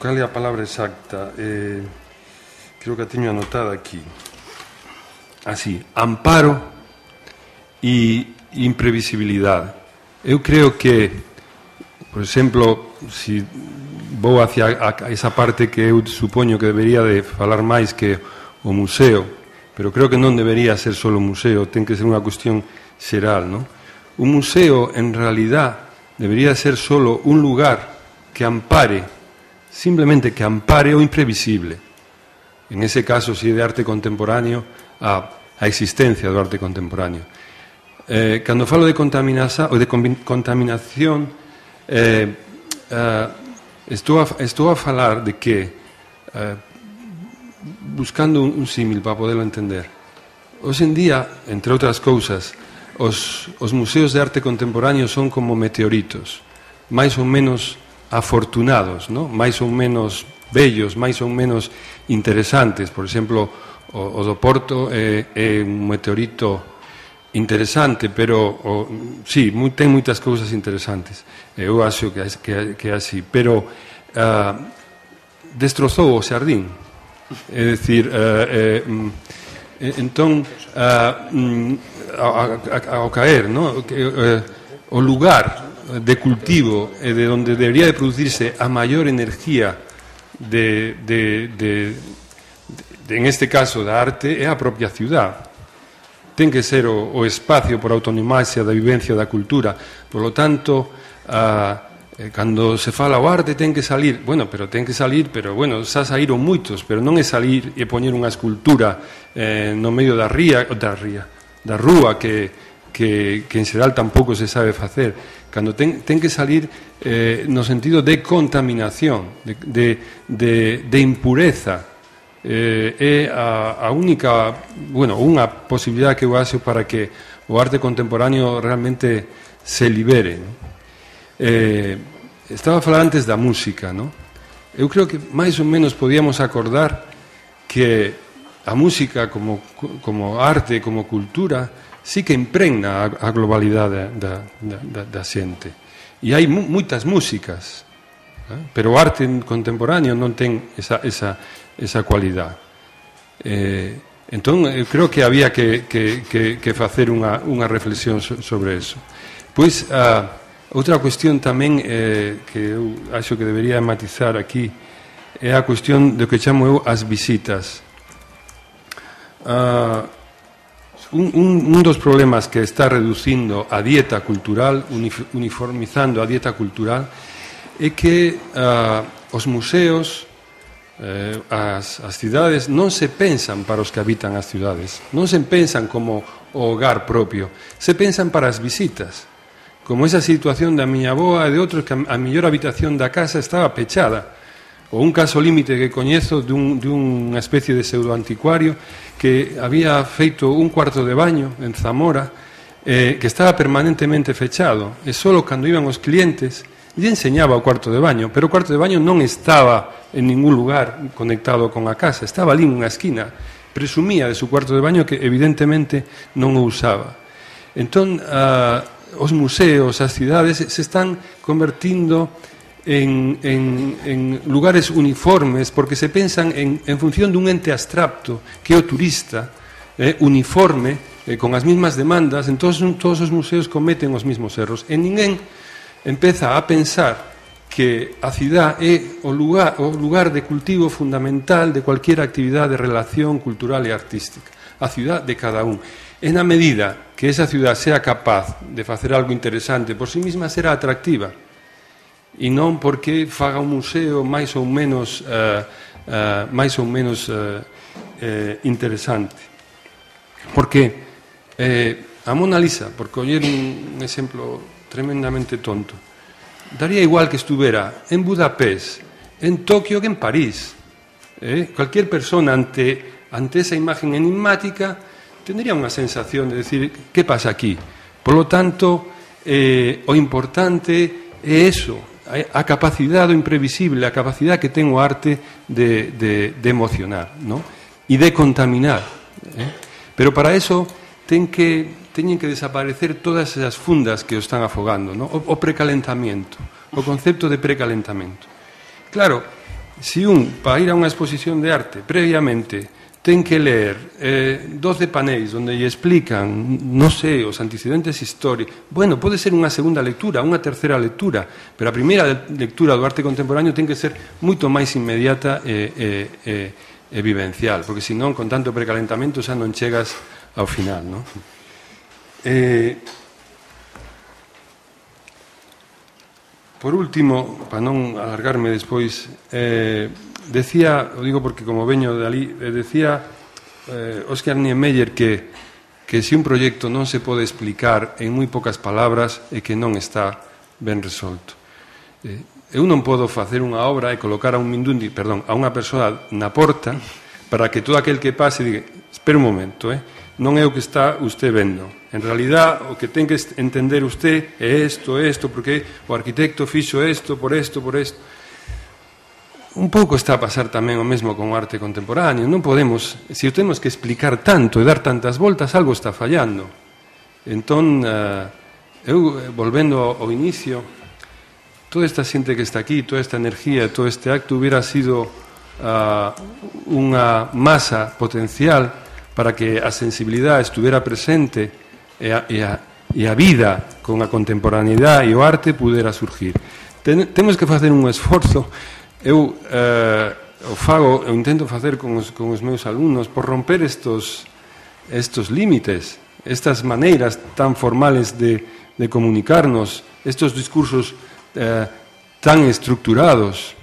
cal é a palabra exacta? Creo que a teño anotada aquí. Así, amparo e imprevisibilidade. Eu creo que, por exemplo, si vou hacia esa parte que eu supoño que debería de falar máis que o museo, pero creo que non debería ser só o museo, ten que ser unha cuestión xeral, non? Un museo, en realidad, debería ser só un lugar que ampare, simplemente que ampare o imprevisible. En ese caso, si é de arte contemporáneo, a existencia do arte contemporáneo. Cando falo de contaminación, estou a falar de que, buscando un símil para poderlo entender, hoxe en día, entre outras cousas, os museos de arte contemporáneo son como meteoritos, máis ou menos afortunados, ¿no? Máis ou menos bellos, máis ou menos interesantes. Por exemplo, o do Porto é un meteorito interesante, pero sí, ten moitas cousas interesantes. Eu acho que é así, pero destrozou o xardín. É dicir, entón, ao caer, ¿no? O lugar de cultivo e de onde debería de producirse a maior energía en este caso da arte é a propia ciudad. Ten que ser o espacio por autonomasia da vivencia da cultura. Por lo tanto, cando se fala o arte ten que salir, bueno, xa saíron moitos, pero non é salir e poñer unha escultura no medio da rúa que en xeral tampouco se sabe facer. Cando ten que salir no sentido de contaminación, de impureza. É a única, unha posibilidade que eu acho para que o arte contemporáneo realmente se libere, ¿no? Estaba a falar antes da música, ¿no? Eu creo que máis ou menos podíamos acordar que a música como arte, como cultura, sí que impregna a globalidade da xente. E hai moitas músicas, pero o arte contemporáneo non ten esa cualidade. Entón, eu creo que había que facer unha reflexión sobre eso. Pois, outra cuestión tamén que eu acho que debería matizar aquí é a cuestión do que chamo eu as visitas. Un dos problemas que está reducindo a dieta cultural, uniformizando a dieta cultural, é que os museos, as cidades, non se pensan para os que habitan as cidades, non se pensan como o hogar propio, se pensan para as visitas, como esa situación da miña avoa e de outros que a mellor habitación da casa estaba pechada, ou un caso límite que coñezo dunha especie de pseudoanticuario que había feito un cuarto de baño en Zamora, que estaba permanentemente fechado, e só cando iban os clientes lle enseñaba o cuarto de baño, pero o cuarto de baño non estaba en ningún lugar conectado con a casa, estaba ali nunha esquina, presumía de su cuarto de baño que evidentemente non o usaba. Entón, os museos, as cidades se están convertindo en lugares uniformes porque se pensan en función dun ente abstracto que é o turista, uniforme, con as mismas demandas. Entón todos os museos cometen os mismos erros e ninguén empeza a pensar que a cidade é o lugar de cultivo fundamental de cualquier actividade de relación cultural e artística, a cidade de cada un. E na medida que esa cidade sea capaz de facer algo interesante por sí mesma, será atractiva, e non porque faga un museo máis ou menos interesante. Porque a Mona Lisa, por coller un exemplo tremendamente tonto, daría igual que estuvera en Budapest, en Tokio que en París. Cualquier persona ante esa imagen enigmática tendría unha sensación de decir, que pasa aquí? Por lo tanto, o importante é eso, a capacidade do imprevisible, a capacidade que ten o arte de emocionar, ¿no? E de contaminar. Pero para eso teñen que desaparecer todas esas fundas que o están afogando, ¿no? O precalentamiento, o concepto de precalentamiento. Claro, se para ir a unha exposición de arte, previamente ten que ler 12 panéis onde lle explican, non sei, os antecedentes históricos. Bueno, pode ser unha segunda lectura, unha terceira lectura, pero a primeira lectura do arte contemporáneo ten que ser moito máis inmediata e vivencial, porque senón, con tanto precalentamento, xa non chegas ao final, non? Por último, para non alargarme despois, decía, o digo porque como veño de ali, decía Oscar Niemeyer que se un proxecto non se pode explicar en moi poucas palabras e que non está ben resolto. Eu non podo facer unha obra e colocar a unha persoa na porta para que todo aquel que pase diga, espera un momento, non é o que está usted vendo. En realidad, o que ten que entender usted é isto, porque o arquitecto fixo isto, por isto. Un pouco está a pasar tamén o mesmo con o arte contemporáneo. Non podemos, se o temos que explicar tanto e dar tantas voltas, algo está fallando. Entón, eu, volvendo ao inicio, toda esta xente que está aquí, toda esta energía, todo este acto hubiera sido unha masa potencial para que a sensibilidade estuvera presente e a vida con a contemporaneidade e o arte pudera surgir. Temos que facer un esforzo. Eu intento facer con os meus alumnos por romper estos límites, estas maneiras tan formales de comunicarnos, estos discursos tan estructurados,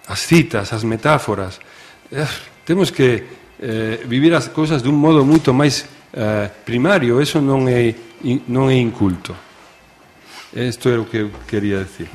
as citas, as metáforas. Temos que vivir as cousas dun modo moito máis primario. Eso non é inculto. Isto é o que eu quería decir.